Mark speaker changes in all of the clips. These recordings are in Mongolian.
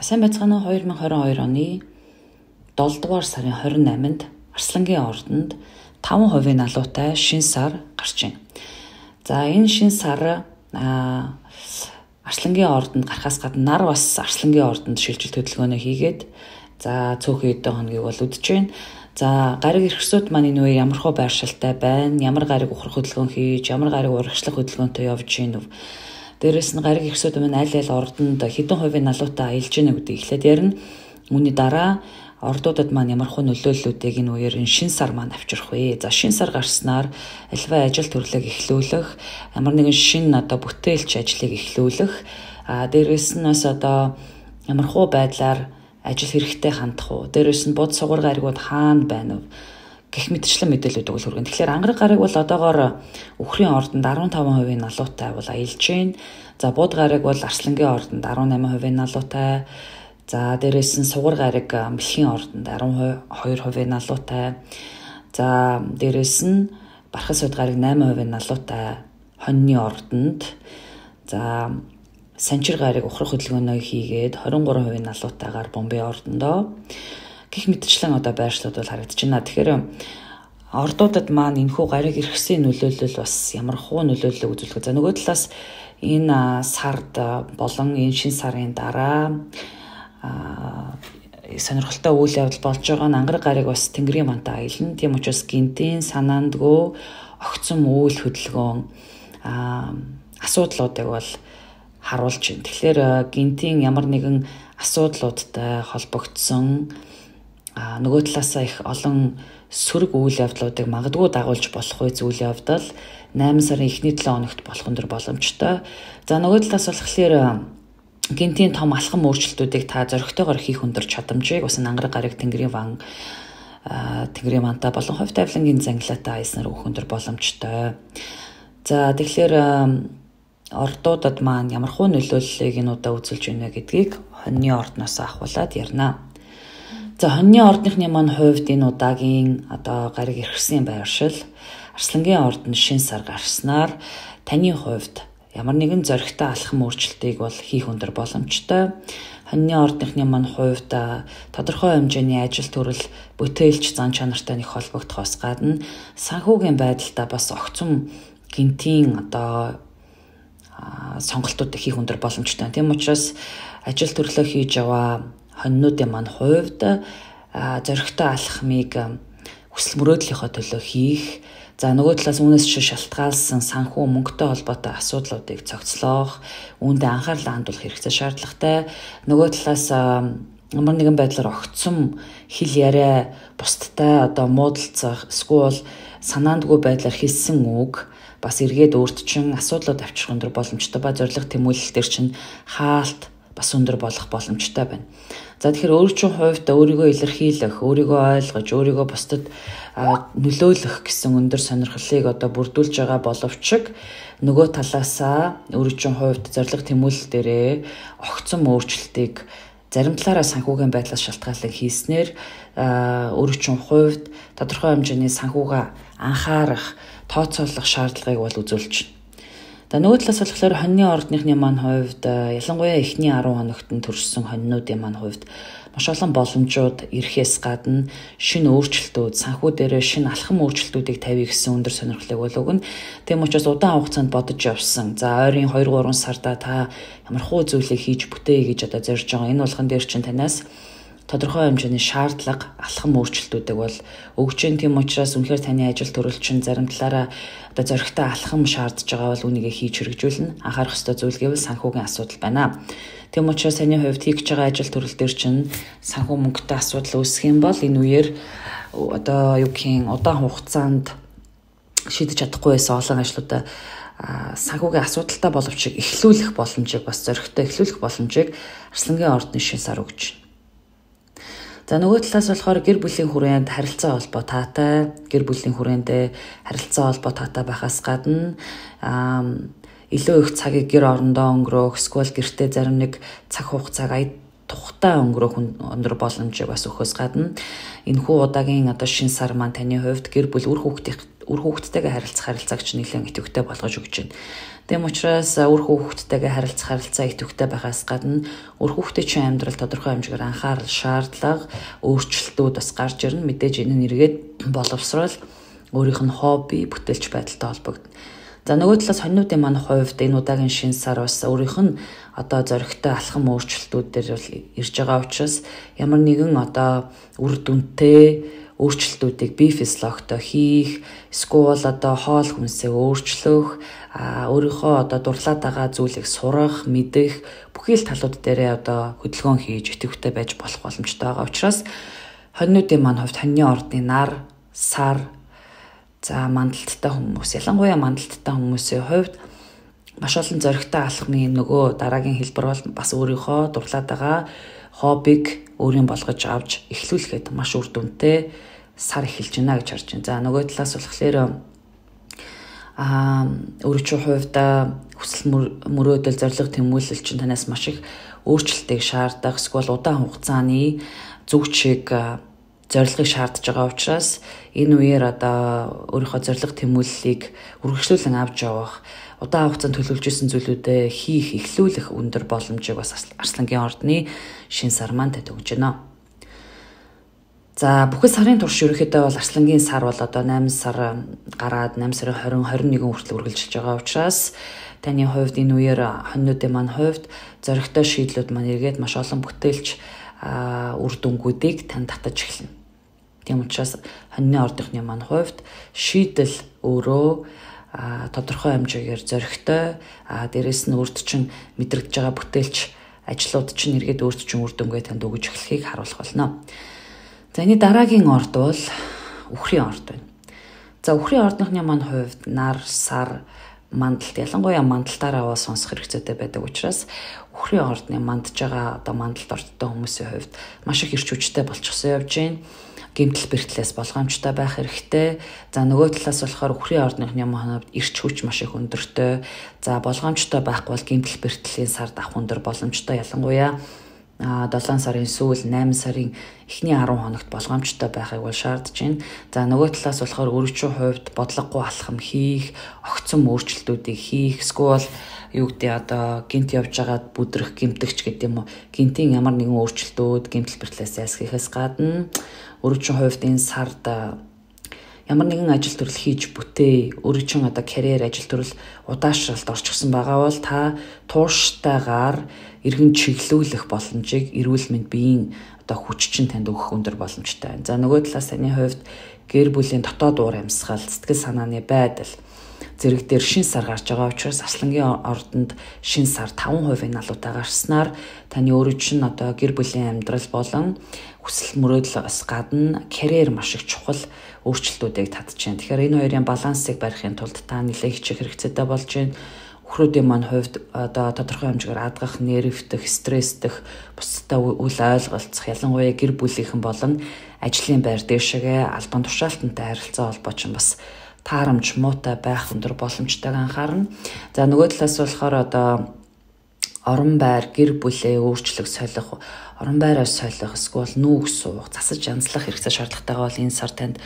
Speaker 1: Сайн байцгаана 2022 оны 7 дугаар сарын 28-нд Арслангийн ордонд 5% налуутай шинэ сар гарч байна. За энэ шинэ сар Арслангийн ордонд гарахаас гадна нар бас Арслангийн ордонд шилжилт хөдөлгөөнөө хийгээд за цөөхөн эдэн хоногийг бол үдэж байна. За гариг эрхсүүд маань энэ үе ямар хөө байршилтай байна, ямар гариг ухрах хөдөлгөөн хийж, ямар гариг урагшлах хөдөлгөөнтэй явж гин нүв. Дээрээс нь гариг эрхсүүд маань аль ордонд хэдэн хувийн налуутай аялж гинэ гэдэг ихлээр ярина. Үүний дараа ордуудад маань ямар хөө нөлөөллүүдийг энэ үеэр шинэ сар маань авчрах вэ? За шинэ сар гарснаар альва ажил төрлөг эхлүүлэх, ямар нэгэн шинэ бүтээлч ажлыг эхлүүлэх, дээрээс нь бас ямар хөө байдлаар ажил хэрэгтэй хандах уу? Дээрээс нь бод сугар гаригууд хаана байна вэ? Гэх мэтчлэн мэдээлэлүүд өгөл хүргэн. Тэгэхээр ангараг гариг бол одоогоор Үхрийн ордонд 15% налуутай бол аялж байна. За бод гариг бол Арслангийн ордонд 18% налуутай. За дээрээс нь сугар гариг Мэлхийн ордонд 12% налуутай. За дээрээс нь Бархан суд гариг 8% налуутай Хоньны ордонд. За Санчир гариг ухрах хөдөлгөөнөө хийгээд 23% налуутайгаар Бомбей ордондоо гих мэтчлэн байршлууд бол харагдаж байна. Тэгэхээр ордуудад маань энэхүү гариг эрхсийн нөлөөлөл бас ямар хуу нөлөөлөл үзүүлэх. За нөгөө талаас энэ сард болон энэ шинэ сарын дараа сонирхолтой үйл явдал болж байгаа нь ангараг гариг бас Тэнгэрийн мантаа аялна. Тийм учраас гинтийн санаандгүй огцом үйл хөдөлгөөн асуудлуудыг бол харуулж байна. Тэгэхээр гинтийн ямар нэгэн асуудлуудтай холбогдсон нөгөө талаасаа их олон сөрөг үйл явдлуудыг магадгүй дагуулж болох үе зүйл явдал 8 сарын эхний 7 хоногт болох өндөр боломжтой. За нөгөө талаас болохоор гинтийн том алхам өөрчлөлтүүдийг та зөрөгтэйгээр хийх өндөр чадамжийг бас ангараг гариг Тэнгэрийн мантаа болон хувь тавилангийн зангилаатай айснаар өгөх өндөр боломжтой. За тэгэхээр ордуудад маань ямар хуу нөлөөллийг энэ удаа үзүүлж байна гэдгийг Хоньны ордноос ахуулаад ярина. За Хоньны ордныхны маань хувьд энэ удаагийн гариг эрхсэн байршил Арслангийн ордонд шинэ сар гарснаар таны хувьд ямар нэгэн зөрөгтэй алхам өөрчлөлтийг бол хийх өндөр боломжтой. Хоньны ордныхны маань хувьд тодорхой хэмжээний ажил төрөл бүтээлч зан чанартай нэг холбогдохоос гадна санхүүгийн байдалтай бас огцом гинтийн сонголтуудыг хийх өндөр боломжтой. Тийм учраас ажил төрлөө хийж яваа хоньнуудын маань хувьд зөрөгтэй алхмыг хүсэл мөрөөдлийнхөө төлөө хийх, за нөгөө талаас үүнээс шалтгаалсан санхүү мөнгөтэй холбоотой асуудлуудыг цогцлоох, үүндээ анхаарлаа хандуулах хэрэгцээ шаардлагатай. Нөгөө талаас ямар нэгэн байдлаар огцом хэл яриа бусдтай муудалцах, эсвэл санаандгүй байдлаар хэлсэн үг бас эргээд өөртчин асуудлууд авчрах өндөр боломжтой ба зорилго тэмүүлэл төр чинь хаалт бас өндөр болох боломжтой байна. За тэгэхээр өөрийн хувьд өөрийгөө илэрхийлэх, өөрийгөө ойлгож, өөрийгөө бусдад нөлөөлөх гэсэн өндөр сонирхлыг бүрдүүлж байгаа боловч нөгөө талаасаа өөрийн хувьд зорилго тэмүүлэл дээрээ огцом өөрчлөлтийг зарим талаараа санхүүгийн байдлаас шалтгаалan хийснээр өөрийн хувьд тодорхой хэмжээний санхүүгээ анхаарах, тооцоолох шаардлагыг бол үзүүлж байна. За нөгөө талаас болохоор Хоньны ордныхны маань хувьд ялангуяа эхний 10 хоногт нь төрсэн хоньнуудын маань хувьд маш олон боломжууд ирэхээс гадна шинэ өөрчлөлтүүд, санхүү дээрээ шинэ алхам өөрчлөлтүүдийг тавья гэсэн өндөр сонирхлыг бол өгнө. Тийм учраас удаан хугацаанд бодож явсан. За ойрын 2-3 сарда та ямар хуу зүйлийг хийж бүтээе гэж зорж байгаа. Энэ болгон дээр чинь танаас тодорхой хэмжээний шаардлага, алхам өөрчлөлтүүдийг бол өгч जैन. Тийм учраас үнэхээр таны ажил төрөл чинь зарим талаараа зөрөгтэй алхам шаардж байгаа бол үүнийг хийж хэрэгжүүлнэ. Анхаарах ёстой зүйл гэвэл санхүүгийн асуудал байна. Тийм учраас таны хувьд хийж байгаа ажил төрөл дээр чинь санхүү мөнгөтэй асуудал үүсэх юм бол энэ үеэр удаан хугацаанд шийдэж чадахгүй байсан олон ажлуудаа санхүүгийн асуудалтай боловч эхлүүлэх боломжийг бас зөрөгтэй эхлүүлэх боломжийг Арслангийн ордны шинэ сар өгч байна. За нөгөө талаас болохоор гэр бүлийн хүрээнд харилцаа холбоо таатай, гэр бүлийн хүрээндээ харилцаа холбоо таатай байхаас гадна илүү их цагийг гэр орондоо өнгөрөөх, эсвэл гэртээ зарим нэг цаг хугацааг тухтай өнгөрөөх өндөр боломжийг бас өгөхөөс гадна энэхүү удаагийн шинэ сар маань таны хувьд гэр бүл үр үр хүүхдтэйгээ харилцах харилцааг чинь нэлээд идэвхтэй болгож өгч байна. Тэм учраас үр хүүхдтэйгээ харилцах харилцаа идэвхтэй байхаас гадна үр хүүхдийн чинь амьдрал тодорхой хэмжээгээр анхаарал, шаардлага, өөрчлөлтүүд бас гарч ирнэ. Мэдээж энэ нь эргээд боловсрол өөрийнх нь хобби, бүтээлч байдалтай холбогдно. За нөгөө талаас хоньнуудын маань хувьд энэ удаагийн шинэ сар бас өөрийнх нь одоо зоригтой алхам өөрчлөлтүүд дээр бол ирж байгаа учраас ямар нэгэн одоо үр дүнтэй өөрчлөлтүүдийг бие физиологтой хийх, эсвэл одоо хоол хүнсээ өөрчлөх, өөрийнхөө одоо дурлаад байгаа зүйлийг сурах, мэдэх бүхий л талууд дээрээ одоо хөдөлгөөн хийж идэвхтэй байж болох боломжтой байгаа учраас хоньнуудын маань хувьд хоньны ордны нар, сар, за мандалттай хүмүүс, ялангуяа мандалттай хүмүүсийн хувьд маш олон зоригтой алхмын нөгөө дараагийн хэлбэр бол бас өөрийнхөө дурлаад байгаа хоббиг өөрийн болгож авч эхлүүлэхэд маш үр дүнтэй сар эхэлж байна гэж харж байна. За нөгөө талаас болохоор өөрийнхөө хувьд хүсэл мөрөөдөл зорилго тэмүүлэл чинь танаас маш их өөрчлөлтийг шаардах, эсвэл удаан хугацааны зүг чиг зорилгыг шаардж байгаа учраас энэ үеэр одоо өөрийнхөө зорилго тэмүүллийг үргэлжлүүлэн авч явах, удаан хугацаанд төлөвлөж исэн зүйлүүдэд хийх, эхлүүлэх өндөр боломжийг бас Арслангийн ордны шин сар маань өгж байна. За бүхэл сарын турш ерөнхийдөө бол Арслангийн сар бол одоо 8 сар гараад 8 сарын 20 21 хүртэл үргэлжилж байгаа учраас таны хувьд энэ үеэр хоньнуудын маань хувьд зоригтой шийдлүүд маань эргээд маш олон бүтээлч үр дүнгуудыг тань татаж эхэлнэ. Тийм учраас хоньны ордынхны маань хувьд шийдэл өөрөө тодорхой хэмжээгээр зоригтой, дээрэс нь өөрт чинь мэдрэгдэж байгаа бүтээлч ажлууд чинь эргээд өөрт чинь үр дүнгээ танд өгж эхлэхийг харуулах болно. За энэ дараагийн орд бол үхрийн орд байна. За үхрийн ордынхны маань хувьд нар, сар, мандалт, ялангуяа мандалтаараа бол сонсох хэрэгцээтэй байдаг учраас үхрийн ордны мандж байгаа одоо мандалт ордтой хүмүүсийн хувьд маш их эрч хүчтэй болчихсон явж байна. Гэмтэл бэртлээс болгоомжтой байх хэрэгтэй. За нөгөө талаас болохоор үхрийн ордныхны маань эрч хүч маш их өндөртэй. За болгоомжтой байхгүй бол гэмтэл бэртлийн сард авах өндөр боломжтой, ялангуяа 7 сарын сүүл 8 сарын эхний 10 хоногт болгоомжтой байхыг бол шаардж байна. За нөгөө талаас болохоор өөрийнхөө хувьд бодлогогүй алхам хийх, огцом өөрчлөлтүүдийг хийх, эсвэл юу гэдэг одоо гинт явж байгаа бүдрэх, гимтэгч гэдэг юм уу. Гинтийн ямар нэгэн өөрчлөлтүүд гэмтэл бэртлээс ясгихээс гадна өөрийнхөө хувьд энэ сард ямар нэгэн ажил төрөл хийж бүтээ, өөрийнхөө одоо карьер ажил төрөл удаашралт орчихсон байгаа бол та тууштайгаар иргэн чиглүүлэх боломжийг эрүүл мэнд биеийн одоо хүч чинь танд өгөх өндөр боломжтой байна. За нөгөө талаас таны хувьд гэр бүлийн дотоод уур амьсгал, сэтгэл санааны байдал зэрэг дээр шин сар гарч байгаа учраас Арслангийн ордонд шин сар 5% налуутай гарснаар таны өөрөө чинь одоо гэр бүлийн амьдрал болон хүсэл мөрөөдлөөс гадна карьер маш их чухал өөрчлөлтүүдийг татж байна. Тэгэхээр энэ хоёрын балансыг барихын тулд та нэлээд хичээх хэрэгцээтэй болж байна. Үхрүүдийн маань хувьд одоо тодорхой хэмжээгээр адгах, нервтэх, стресстэх, бусдад үл ойлголцох, ялангуяа гэр бүлийнхэн болон ажлын байр дээшээгээ албан тушаалтантай харилцаа холбоо ч бас таарамж муутай байх өндөр боломжтойг анхаарна. За нөгөө талаас болохоор одоо орон байр, гэр бүлээ өөрчлөх, солих, орон байраа солих, эсвэл нүүх суух, засаж янзлах хэрэгцээ шаардлагатайгаа бол энэ сар танд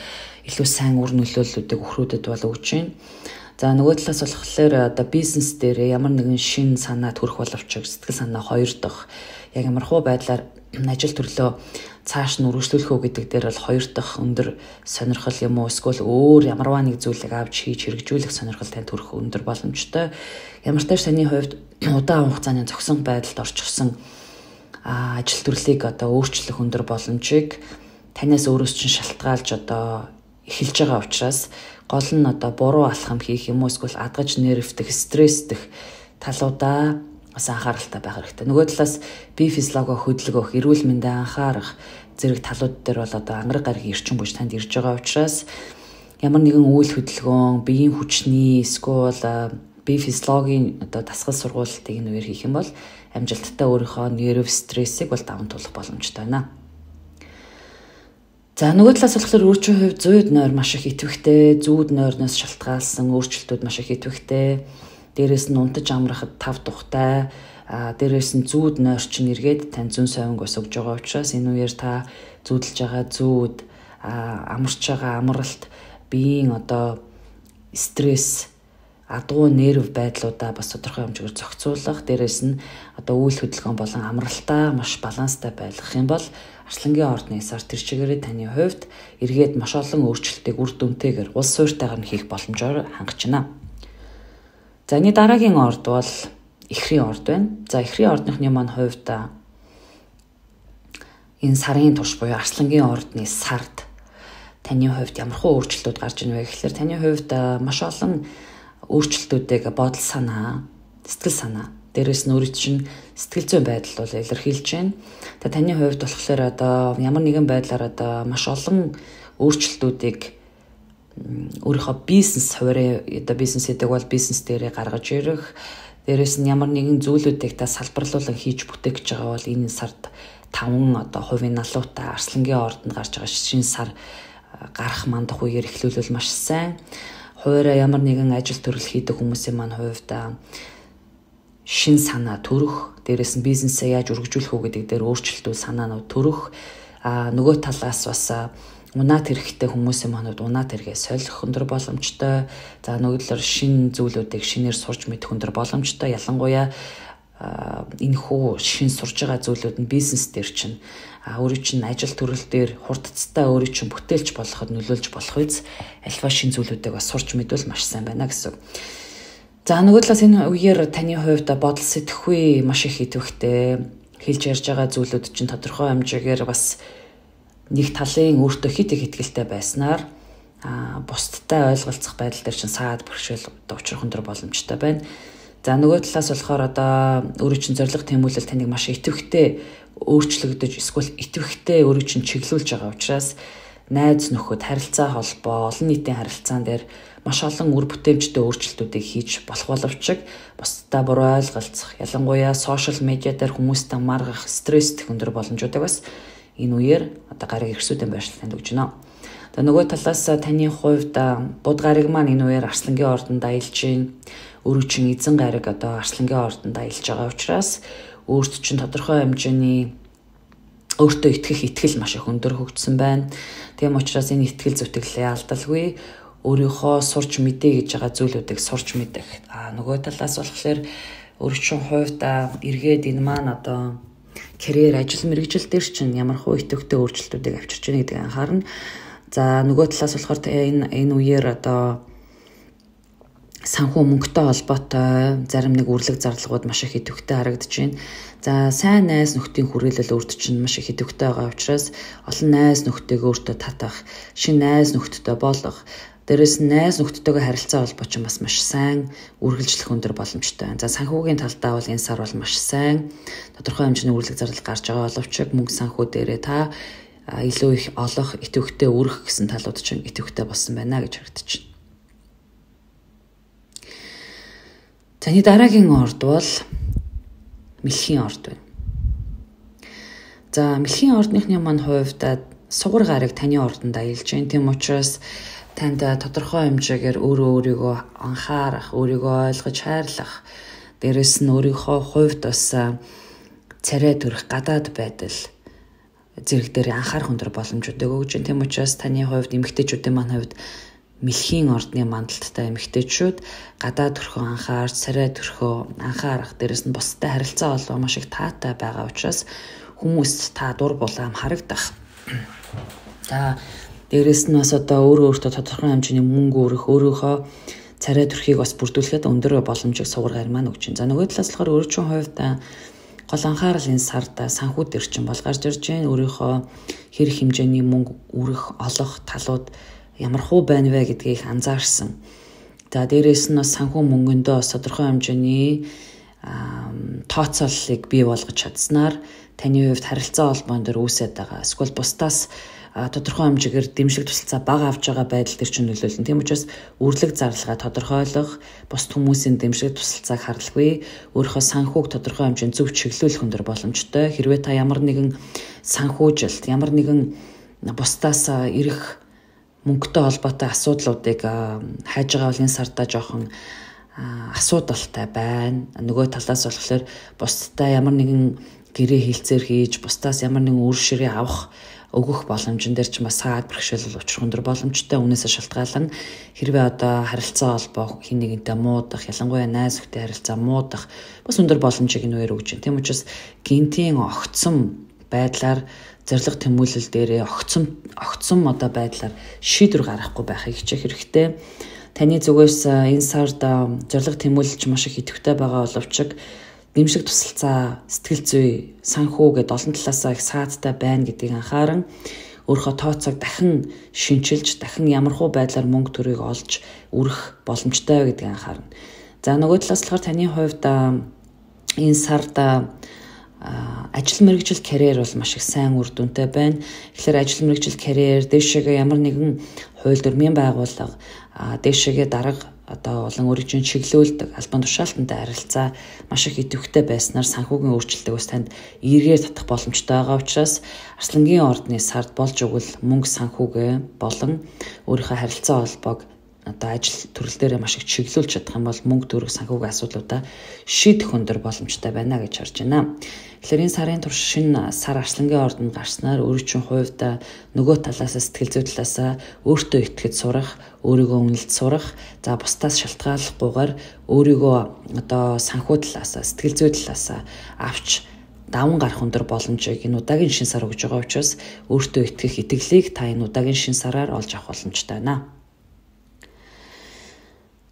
Speaker 1: илүү сайн үр нөлөөллүүдийг үхрүүдэд бол өгч байна. За нөгөө талаас болохоор одоо бизнес дээр ямар нэгэн шин санаа төрөх боловч сэтгэл санаа хоёр дахь яг ямархуу байдлаар ажил төрлөө цааш нь үргэлжлүүлэх үү гэдэг дээр бол хоёр дахь өндөр сонирхол юм уу, эсвэл өөр ямарваа нэг зүйлийг авч хийж хэрэгжүүлэх сонирхол тань төрөх өндөр боломжтой. Ямар ч тааш таны хувьд удаан хугацааны зохисон байдалд орчихсон ажил төрлийг одоо өөрчлөх өндөр боломжийг танаас өөрөөс чинь шалтгаалж одоо эхэлж байгаа учраас гол нь одоо буруу алхам хийх юм уу, эсвэл адгаж нервтэх, стресстэх талуудаа бас анхааралтай байх хэрэгтэй. Нөгөө талаас бие физиологоо хөдөлгөх, эрүүл мэндэд анхаарах зэрэг талууд дээр бол одоо ангараг гарагийн эрчим хүч танд ирж байгаа учраас ямар нэгэн үйл хөдөлгөөн, биеийн хүчний эсвэл бие физиологийн одоо дасгал сургуулалтыг энэ үеэр хийх юм бол амжилттай өөрийнхөө нерв стрессийг бол даван туулах боломжтой байна. За нөгөө талаас болохоор өөрчийн хувьд зүйд нойр маш их идэвхтэй, зүүд нойрноос шалтгаалсан өөрчлөлтүүд маш их идэвхтэй. Дээрээс нь унтаж амрахад тав тухтай, дээрээс нь зүүд нойр чинь эргээд тань зүүн совинг ус өгж байгаа учраас энэ үеэр та зүүдэлж байгаа зүүд, амарч байгаа амралт, биеийн одоо стресс, адуу нерв байдлуудаа бас тодорхой хэмжээгээр зохицуулах, дээрээс нь одоо үйл хөдөлгөөн болон амралтаа маш баланстай байлгах юм бол арслангийн ордны сар тэр чигээрээ таны хувьд эргээд маш олон өөрчлөлтийг үр дүнтэйгээр улс суурьтайгаар нь хийх боломжоор хангаж байна. За энэ дараагийн орд бол эхрийн орд байна. За эхрийн ордныхны маань хувьд энэ сарын турш буюу арслангийн ордны сард таны хувьд ямархуу өөрчлөлтүүд гарч ийн вэ гэхээр таны хувьд маш олон өөрчлөлтүүдийг бодол санаа, сэтгэл санаа, дээрээс нь өөрийн чинь сэтгэл зүйн байдал бол илэрхийлж байна. Тэгээ таны хувьд болохоор одоо ямар нэгэн байдлаар одоо маш олон өөрчлөлтүүдийг өөрийнхөө бизнес хуваарь одоо бизнес гэдэг бол бизнес дээрээ гаргаж ирэх, дээрээс нь ямар нэгэн зүйлүүдийг та салбарлуулан хийж бүтээх гэж байгаа бол энэ сард 5 одоо хувийн налуутай арслангийн ордонд гарч байгаа шинэ сар гарах мандах үеэр эхлүүлвэл маш сайн. Хуваараа ямар нэгэн ажил төрөл хийдэг хүмүүсийн маань хувьд шин санаа төрөх, дээрээс нь бизнесээ яаж өргөжүүлэх үү гэдэг дээр өөрчлөлтүүд санаанууд төрөх, нөгөө талаас бас унаад хэрэгтэй хүмүүсийн манууд унаад хэрэгээ солих өндөр боломжтой. За нөгөө талаар шин зүйлүүдийг шинээр сурч мэдэх өндөр боломжтой. Ялангуяа энэхүү шин сурж байгаа зүйлүүд нь бизнес дээр чинь өөрийн чинь ажил төрөл дээр хурдцтай өөрийн чинь бүтээлч болоход нөлөөлж болох үз альва шин зүйлүүдийг бас сурч мэдвэл маш сайн байна гэсэн. За нөгөө талаас энэ үеэр таны хувьд бодол сэтгэхүй маш их идэвхтэй, хэлж ярьж байгаа зүйлүүд чинь тодорхой хэмжээгээр бас нэг талын өөртөө хит их ихтэй байснаар бусдтай ойлголцох байдал дээр чинь саад бэрхшээл учрах өндөр боломжтой байна. За нөгөө талаас болохоор одоо өөрийн чинь зориг тэмүүлэл таныг маш идэвхтэй өөрчлөгдөж эсвэл идэвхтэй өөрийн чинь чиглүүлж байгаа учраас найз нөхөд харилцаа холбоо, олон нийтийн харилцаан дээр маш олон үр бүтээмжтэй өөрчлөлтүүдийг хийж болох боловч бусдаа буруу ойлголцох, ялангуяа сошиал медиа дээр хүмүүстэй маргах, стресстэй өндөр боломжуудыг бас энэ үеэр одоо гариг ирсүүдэн байршилтанд өгч байна. Тэгээ нөгөө талаас таны хувьд буд гариг маань энэ үеэр арслангийн ордонд аялж гин, өөрөө чинь эзэн гариг одоо арслангийн ордонд аялж байгаа учраас өөрт чинь тодорхой хэмжээний өөртөө итгэх итгэл маш их өндөр хөгжсөн байна. Тийм учраас энэ итгэл зүтгэлээ алдалгүй өөрийнхөө сурч мэдээ гэж байгаа зүйлүүдийг сурч мэдэх. Нөгөө талаас болохоор өөрийн хувьд эргээд энэ маань одоо карьер, ажил мэргэжил дээр чинь ямархуу идэвхтэй өөрчлөлтүүдийг авчирч байна гэдгийг анхаарна. За нөгөө талаас болохоор энэ үеэр одоо санхүү мөнгөтэй холбоотой зарим нэг үрлэг зарлагууд маш их идэвхтэй харагдаж байна. За сайн найз нөхдийн хүрээлэл өөрт чинь маш их идэвхтэй байгаа учраас олон найз нөхдөйг өөртөө татах, шинэ найз нөхдөдтэй болох, дээрээс нь найз нөхдөдтэйгээ харилцаа холбоо чинь бас маш сайн үргэлжлэх өндөр боломжтой байна. За санхүүгийн талдаа бол энэ сар бол маш сайн тодорхой хэмжээний үрлэг зарлал гарч байгаа боловч мөнгө санхүү дээрээ та илүү их олох, идэвхтэй өргөх гэсэн талууд чинь идэвхтэй болсон байна гэж харагдаж байна. Таны дараагийн орд бол мэлхийн орд байна. За мэлхийн ордныхны маань хувьд сугар гариг таны ордонд аялж байна. Тийм учраас танд тодорхой хэмжээгээр өөрийгөө анхаарах, өөрийгөө ойлгож хайрлах, дээрэс нь өөрийнхөө хувьд бас царай төрөх гадаад байдал зэрэг дээр анхаарах өндөр боломжуудыг өгж байна. Тийм учраас таны хувьд эмэгтэйчүүдийн маань хувьд мэлхийн ордны мандалттай эмэгтэйчүүд гадаад төрхөө анхаарч, царай төрхөө анхаарах, дээрэс нь бусдад харилцаа олгох маш их таатай байгаа учраас хүмүүст та дур булаам харагдах. За дээрэс нь бас одоо өөртөө тодорхой хэмжээний мөнгө өрөх, өөрийнхөө царай төрхийг бас бүрдүүлэхэд өндөр боломжийг сугар гариг маань өгч байна. За нөгөө талаас болохоор өөрийн хувьд гол анхаарал энэ сард санхүү дээр чинь бол гарч ирж байна. Өөрийнхөө хэрэг хэмжээний мөнгө өрөх, олох талууд ямар хуу байна вэ гэдгийг анзаарсан. За дээрээс нь бас санхүү мөнгөндөө бас тодорхой хэмжээний тооцооллыг бий болгож чадсанаар таны хувьд харилцаа холбоон дээр үүсэж байгаа. Эсвэл бусдаас тодорхой хэмжээгээр дэмжлэг тусалцаа бага авч байгаа байдал төр чинь нөлөөлнө. Тийм учраас үрлэг зарлагаа тодорхойлох, бусд хүмүүсийн дэмжлэг тусалцааг харлахгүй, өөрийнхөө санхүүг тодорхой хэмжээнд зөв чиглүүлэх өндөр боломжтой. Хэрвээ та ямар нэгэн санхүүжилт, ямар нэгэн бусдаас ирэх мөнгөтэй холбоотой асуудлуудыг хайж байгаа бол энэ сарда жоохон асуудалтай байна. Нөгөө талаас болохоор бусдаа ямар нэгэн гэрээ хилцээр хийж, бусдаас ямар нэгэн үр ширээ авах өгөх боломжн дээр ч бас саад бэрхшээл учрах өндөр боломжтой. Үүнээсээ шалтгаалan хэрвээ одоо харилцаа холбоо хин нэгэнтэй муудах, ялангуяа найз нөхдөд харилцаа муудах бас өндөр боломжийг нүүр өгж байна. Тийм учраас гинтийн огцом байдлаар зориг тэмүүлэл дээрээ огцом одоо байдлаар шийдвэр гаргахгүй байхыг хичээх хэрэгтэй. Таны зүгээс энэ сард зориг тэмүүлэлч маш их идэвхтэй байгаа боловч дэмжлэг тусалцаа, сэтгэл зүй, санхүү гэдээ олон талаасаа их саадтай байна гэдгийг анхааран өөрийнхөө тооцоог дахин шинчилж, дахин ямархуу байдлаар мөнгө төрийг олж үрэх боломжтой гэдгийг анхаарна. За нөгөө талаас болохоор таны хувьд энэ сард ажил мэргэжил карьер бол маш их сайн үр дүнтэй байна. Тэгэхээр ажил мэргэжил карьер дэшегээ ямар нэгэн хууль дүрмийн байгууллага дэшегээ дарга одоо болон өөрийн чиглүүлдэг албан тушаалтантай харилцаа маш их идэвхтэй байснаар санхүүгийн өөрчлөлтийг бас танд эргээр татах боломжтой байгаа учраас Арслангийн ордны сард болж өгвөл мөнгө санхүүгээ болон өөрийнхөө харилцаа холбоог одоо ажил төрөл дээр маш их чиглүүлж чадах юм бол мөнгө төрөх санхүүгийн асуудлуудаа шийдэх өндөр боломжтой байна гэж харж байна. Тэгэхээр энэ сарын турш шинэ сар Арслангийн ордонд гарснаар өөрийн хувьд нөгөө талаас сэтгэл зүй талаас өөртөө итгэж сурах, өөрийгөө үнэлж сурах, за бусдаас шалтгааллахгүйгээр өөрийгөө одоо санхүү талаас сэтгэл зүй талаас авч даван гарах өндөр боломжийг энэ удаагийн шинэ сар өгж байгаа учраас өөртөө итгэх итгэлийг та энэ удаагийн шинэ сараар олж авах боломжтой байна.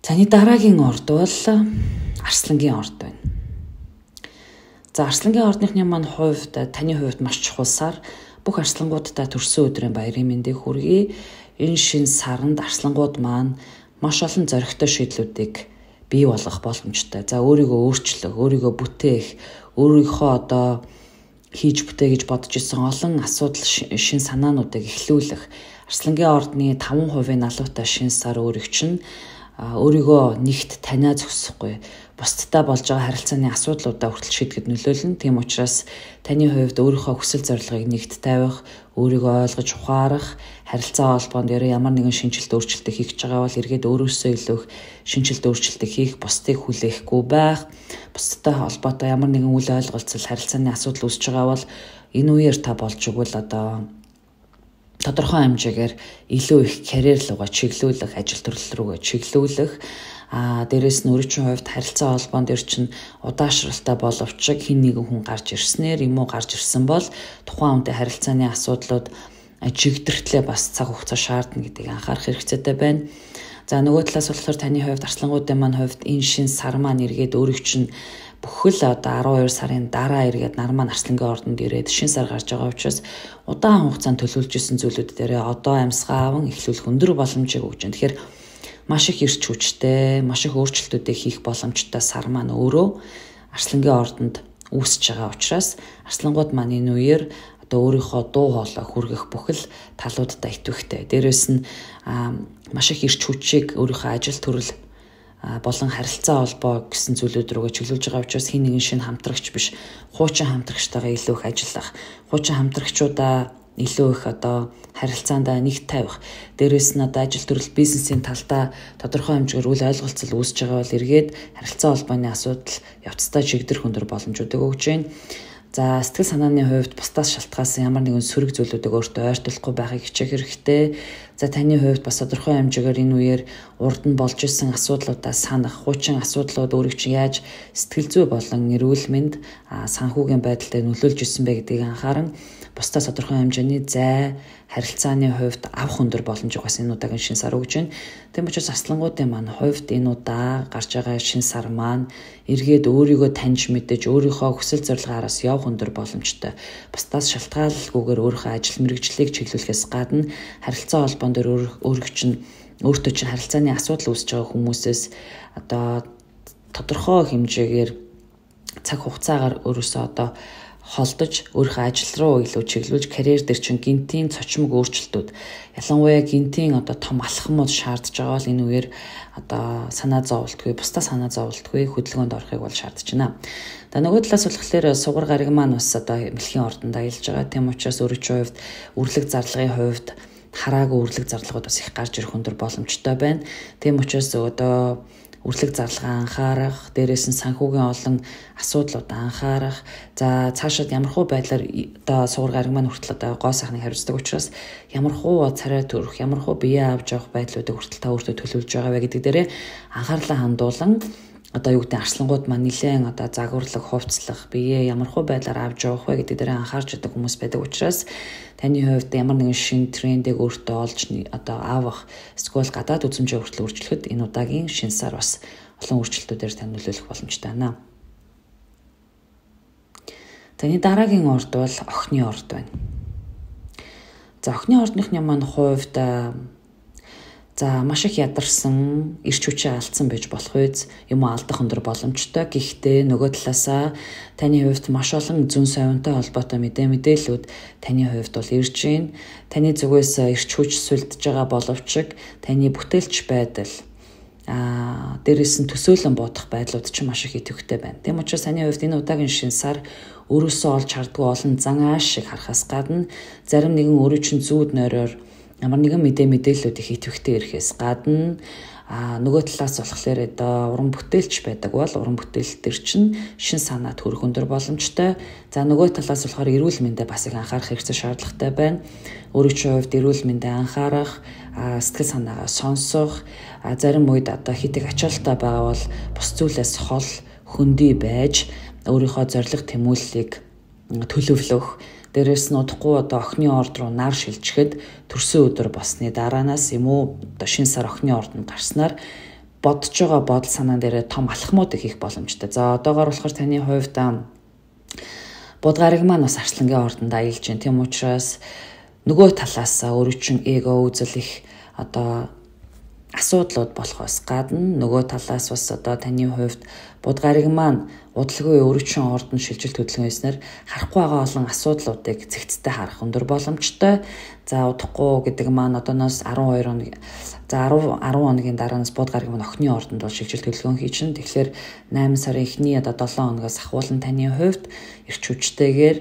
Speaker 1: Таны дараагийн орд бол Арслангийн орд байна. За Арслангийн ордныхны маань хувьд таны хувьд маш чухал сар. Бүх арслангуудтай төрсөн өдрийн баярын мэндийг хүргэе. Энэ шинэ саранд арслангууд маань маш олон зоригтой шийдлүүдийг бий болгох боломжтой. За өөрийгөө өөрчлөх, өөрийгөө бүтээх, өөрийнхөө одоо хийж бүтээ гэж бодож исэн олон асуудал шин санаануудыг эхлүүлэх. Арслангийн ордны 5% налуутай шинэ сар өөрийг чинь өөрийгөө нэгт таниа зогсохгүй бусдтай болж байгаа харилцааны асуудлуудаа хүртэл шийдэхэд нөлөөлнө. Тийм учраас таны хувьд өөрийнхөө хүсэл зорилгыг нэгт тавих, өөрийгөө ойлгож ухаарах, харилцаа холбоонд ямар нэгэн шинжилт өөрчлөлтийг хийж байгаа бол эргээд өөрөөсөө илүү их шинжилт өөрчлөлтийг хийх, бусдыг хүлээхгүй байх, бусдтай холбоотой ямар нэгэн үл ойлголцол харилцааны асуудал үүсэж байгаа бол энэ үеэр та болж өгвөл одоо тодорхой хэмжээгээр илүү их карьер руугаа чиглүүлэх, ажил төрөл рүүгээ чиглүүлэх, дээрээс нь өөрийн хувьд харилцаа холбоон дээр чинь удаашралтай боловч хин нэгэн хүн гарч ирснээр юм уу гарч ирсэн бол тухайн хүнтэй харилцааны асуудлууд чигдэртлээ бас цаг хугацаа шаардна гэдгийг анхаарах хэрэгцээтэй байна. За нөгөө талаас болохоор таны хувьд арслангуудын маань хувьд энэ шин сар маань эргээд өөрийг чинь бүхэл одоо 12 сарын дараа эргээд нар маань Арслангийн ордонд ирээд шин сар гарч байгаа учраас удаан хугацаанд төлөвлөж исэн зүйлүүд дээрээ одоо амьсгаа аван эхлүүлэх өндөр боломжийг өгч байна. Тэгэхээр маш их эрч хүчтэй, маш их өөрчлөлтүүдийг хийх боломжтой сар маань өөрөө Арслангийн ордонд үүсэж байгаа учраас арслангууд маань энэ үеэр одоо өөрийнхөө дуу хоолой хүргэх бүхэл талуудтай идэвхтэй. Дээрээс нь маш их эрч хүчийг өөрийнхөө ажил төрөл болон харилцаа холбоо гэсэн зүйлүүд рүүгээ чиглүүлж байгаа учраас хин нэгэн шинэ хамтрагч биш, хуучин хамтрагчтайгаа илүү их ажиллах, хуучин хамтрагчудаа илүү их одоо харилцаанд нэг тавих. Дээрээс нь одоо ажил төрөл бизнесийн талдаа тодорхой хэмжээгээр үл ойлголцол үүсэж байгаа бол эргээд харилцаа холбооны асуудал явцдаа чигдэрх өндөр боломжуудыг өгж байна. За сэтгэл санааны хувьд бусдаас шалтгаалсан ямар нэгэн сөрөг зүйлүүдийг өөртөө ойртуулахгүй байхыг хичээх хэрэгтэй. За таны хувьд бас тодорхой хэмжээгээр энэ үеэр урд нь болж исэн асуудлуудаа санах, хуучин асуудлууд өөрийг чинь яаж сэтгэл зүй болон эрүүл мэнд санхүүгийн байдалтай нөлөөлж исэн бэ гэдгийг анхааран бусдаас тодорхой хэмжээний зай, харилцааны хувьд авах өндөр боломжийг бас энэ удаагийн шин сар өгж байна. Тийм учраас арслангуудын маань хувьд энэ удаа гарч байгаа шин сар маань эргээд өөрийгөө таньж мэдэж, өөрийнхөө хүсэл зорилгооноос явах өндөр боломжтой. Бусдаас шалтгааллалгүйгээр өөрийнхөө ажил мэргэжлийг чиглүүлэхээс гадна харилцаа холбоон дээр өөрийг чинь өөртөө чинь харилцааны асуудал үүсэж байгаа хүмүүсээс одоо тодорхой хэмжээгээр цаг хугацаагаар өөрөөсөө одоо холдож өөрийнхөө ажил руу илүү чиглүүлж карьер дээр чинь гинтийн цочмог өөрчлөлтүүд ялангуяа гинтийн одоо том алхмууд шаардж байгаа бол энэ үеэр одоо санаа зовлтгүй, бусдаа санаа зовлтгүй хөдөлгөөнд орохыг бол шаардж байна. За нөгөө талаас болохоор сугар гариг маань бас одоо мэлхийн ордонд аялж байгаа. Тийм учраас өөрийн хувьд үрлэг зарлагын хувьд хараагүй үрлэг зарлагууд бас их гарч ирэх өндөр боломжтой байна. Тийм учраас одоо үрлэг зарлагаа анхаарах, дээрээс нь санхүүгийн олон асуудлууд анхаарах. За цаашаад ямархуу байдлаар одоо суурь гараг маань хүртэл одоо гоо сайхныг хариуцдаг учраас ямархуу царай төрөх, ямархуу бие авч явах байдлуудыг хүртэл та өөртөө төлөвлөж байгаа вэ гэдэг дээрээ анхаарлаа хандуулан одоо юу гэдэг арслангууд маань нэлээд одоо загварлаг, хувцлах, бие ямархуу байдлаар авч явах вэ гэдэг дээр анхаарч байгаа хүмүүс байдаг учраас таны хувьд ямар нэгэн шин трендийг өөртөө олж одоо авах, эсвэл гадаад үзмжээ хүртэл өөрчлөхөд энэ удаагийн шинэ сар бас олон өөрчлөлтүүдээр тань нөлөөлөх боломжтой байна. Таны дараагийн орд бол охины орд байна. За охины ордныхны маань хувьд маш их ядарсан, эрч хүчээ алдсан байж болох үз юм алдах өндөр боломжтой. Гэхдээ нөгөө талаасаа таны хувьд маш олон зүүн совинтой холбоотой мэдээллүүд таны хувьд бол ирж байна. Таны зүгээс эрч хүч сүлдэж байгаа боловч таны бүтээлч байдал дээрээс нь төсөөлөн бодох байдлууд ч маш их идэвхтэй байна. Тэм учраас таны хувьд энэ удаагийн шинэ сар өөрөөсөө олж хардггүй олон зан ааш шиг харахаас гадна зарим нэгэн өөрөө чинь зүүд нойроор ямар нэгэн мэдээллүүд их идэвхтэй ирэхээс гадна нөгөө талаас болохоор одоо уран бүтээлч байдаг бол уран бүтээл төр чинь шин санаа төрөх өндөр боломжтой. За нөгөө талаас болохоор эрүүл мэндэд бас их анхаарах хэрэгтэй шаардлагатай байна. Өөрийнхөө хувьд эрүүл мэндэд анхаарах, сэтгэл санаагаа сонсох, зарим үед одоо хитэг ачаалтаа байгаа бол бус зүйлээс хол хөндөй байж өөрийнхөө зориг тэмүүллийг төлөвлөх. Дээрээс нь удахгүй одоо охины орд руу нар шилжихэд төрсөн өдөр болсны дараанаас юм уу одоо шинэ сар охины ордонд гарснаар бодож байгаа бодол санаа дээрээ том алхмууд хийх боломжтой. За одоогоор болохоор таны хувьд бод гараг маань бас арслангийн ордонд аялж байна. Тийм учраас нөгөө талаас өөрөө чин эго үзэл их одоо асуудлууд болохоос гадна нөгөө талаас бас одоо таны хувьд бод гараг маань удалгүй өөрчлөн ордон шилжилт хөдөлгөөснөр харахгүй байгаа олон асуудлуудыг цэгцтэй харах өндөр боломжтой. За удахгүй гэдэг маань одооноос 12 хоног 10 хоногийн дараанаас бод гараг маань охины ордонд бол шилжилт хөдөлгөөн хийчин. Тэгэхээр 8 сарын эхний одоо 7 хоногоос ахуулан таны хувьд эрч хүчтэйгээр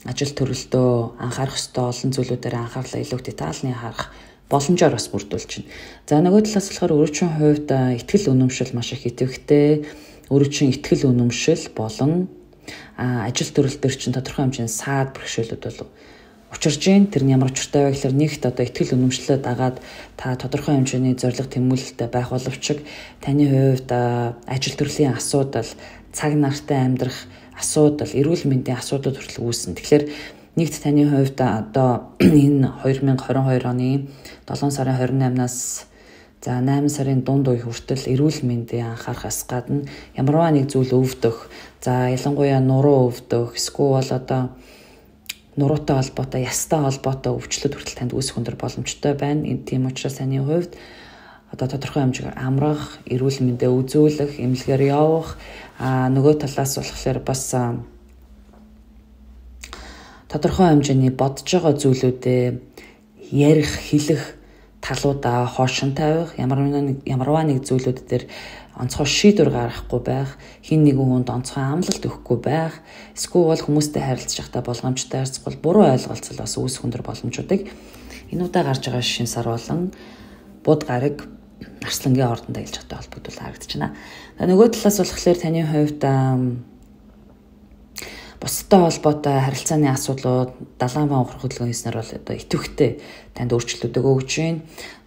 Speaker 1: ажил төрөлдөө анхаарах ёстой олон зүйлүүдээр анхаарлаа илүү детальны харах боломжоор бас бүрдүүлж байна. За нөгөө талаас болохоор өөрийнхөө хувьд ихтгэл үнэмшил маш их идэвхтэй. Өөрийн ихтгэл үнэмшил болон ажил төрөл төр чинь тодорхой хэмжээний саад бэрхшээлүүд бол учирж байна. Тэр нь ямар учиртай вэ гэхээр нэгт одоо ихтгэл үнэмшлээ дагаад та тодорхой хэмжээний зориг тэмүүлэлтэд байх боловч таны хувьд ажил төрлийн асуудал, цаг нартай амьдрах асуудал, эрүүл мэндийн асуудлууд хүртэл үүснэ. Тэгэхээр нэгт таны хувьд одоо энэ 2022 оны 7 сарын 28-наас за 8 сарын дунд үе хүртэл эрүүл мэндийн анхаарахаас гадна ямарваа нэг зүйл өвдөх, за ялангуяа нуруу өвдөх, эсвэл одоо нуруутай холбоотой, ястай холбоотой өвчлөлт хүртэл танд үүсэх өндөр боломжтой байна. Энэ тийм учраас таны хувьд одоо тодорхой хэмжээгээр амрах, эрүүл мэндээ үзүүлэх, эмнэлгээр явах, нөгөө талаас болохоор бас тодорхой хэмжээний бодож байгаа зүйлүүдээ ярих, хэлэх талуудаа хоошин тавих, ямарваа нэг зүйлүүд дээр онцгой шийдвэр гаргахгүй байх, хин нэгэн хүнд онцгой амлалт өгөхгүй байх, эсвэл хүмүүстэй харилцаж байхдаа болгоомжтой харьцах буруу ойлголцол бас үүсэх өндөр боломжуудыг энэ удаа гарч байгаа шинэ сар болон бод гараг арслангийн ордонд аялж байгаатай холбогдуулж харагдаж байна. Нөгөө талаас болохоор таны хувьд бусдтай холбоотой харилцааны асуудлууд, далайн баан ухрах хөдөлгөөнснөр бол одоо идэвхтэй танд өөрчлөлтүүд өгч байна.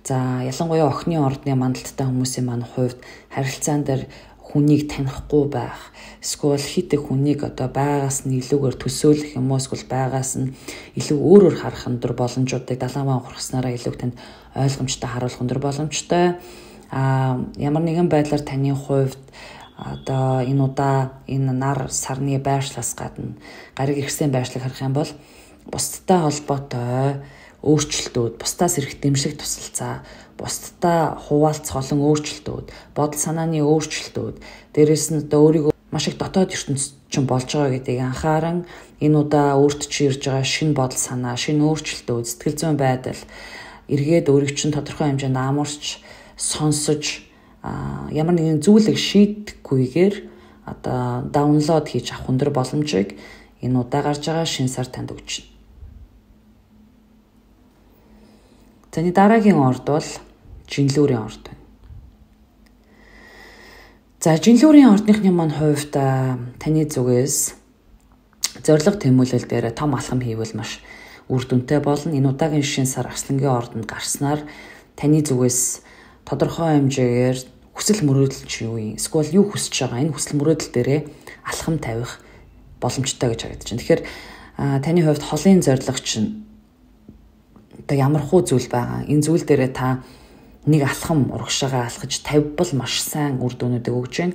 Speaker 1: За ялангуяа охины ордны мандалттай хүмүүсийн маань хувьд харилцаан дээр хүнийг танихгүй байх, эсвэл хит их хүнийг одоо байгаас нь илүүгээр төсөөлөх юм уу, эсвэл байгаас нь илүү өөрөөр харах өндөр боломжуудыг далайн баан ухраснараа илүү танд ойлгомжтой харуулах өндөр боломжтой. Ямар нэгэн байдлаар таны хувьд одоо энэ удаа энэ нар сарны байршлаас гадна гариг ирсэн байршлыг харах юм бол бусдтай холбоотой өөрчлөлтүүд, бусдаас ирэх дэмжлэг тусалцаа, бусдтай хуваалцах олон өөрчлөлтүүд, бодол санааны өөрчлөлтүүд, дээрэс нь одоо өөрийгөө маш их дотоод ертөнцид чинь болж байгаа гэдгийг анхааран энэ удаа өөрт чи ирж байгаа шинэ бодол санаа, шинэ өөрчлөлтүүд, сэтгэл зүйн байдал эргээд өөрийг чинь тодорхой хэмжээнд амарч сонсож ямар нэгэн зүйлийг шийдэхгүйгээр одоо даунлоод хийж авах өндөр боломжийг энэ удаа гарч байгаа шинэ сар танд өгч байна. Таны дараагийн орд бол жинлүүрийн орд байна. За жинлүүрийн ордныхны маань хувьд таны зүгээс зориг тэмүүлэл дээр том алхам хийвэл маш үр дүнтэй болно. Энэ удаагийн шинэ сар Арслангийн ордонд гарснаар таны зүгээс тодорхой хэмжээгээр хүсэл мөрөөдөл чи юу юм? Эсвэл юу хүсэж байгаа? Энэ хүсэл мөрөөдөл дээрээ алхам тавих боломжтой гэж харагдаж байна. Тэгэхээр таны хувьд холын зориг чинь одоо ямар хуу зүйл байгаа? Энэ зүйл дээрээ та нэг алхам урагшаага алхаж тавьбал маш сайн үр дүнүүдийг өгж байна.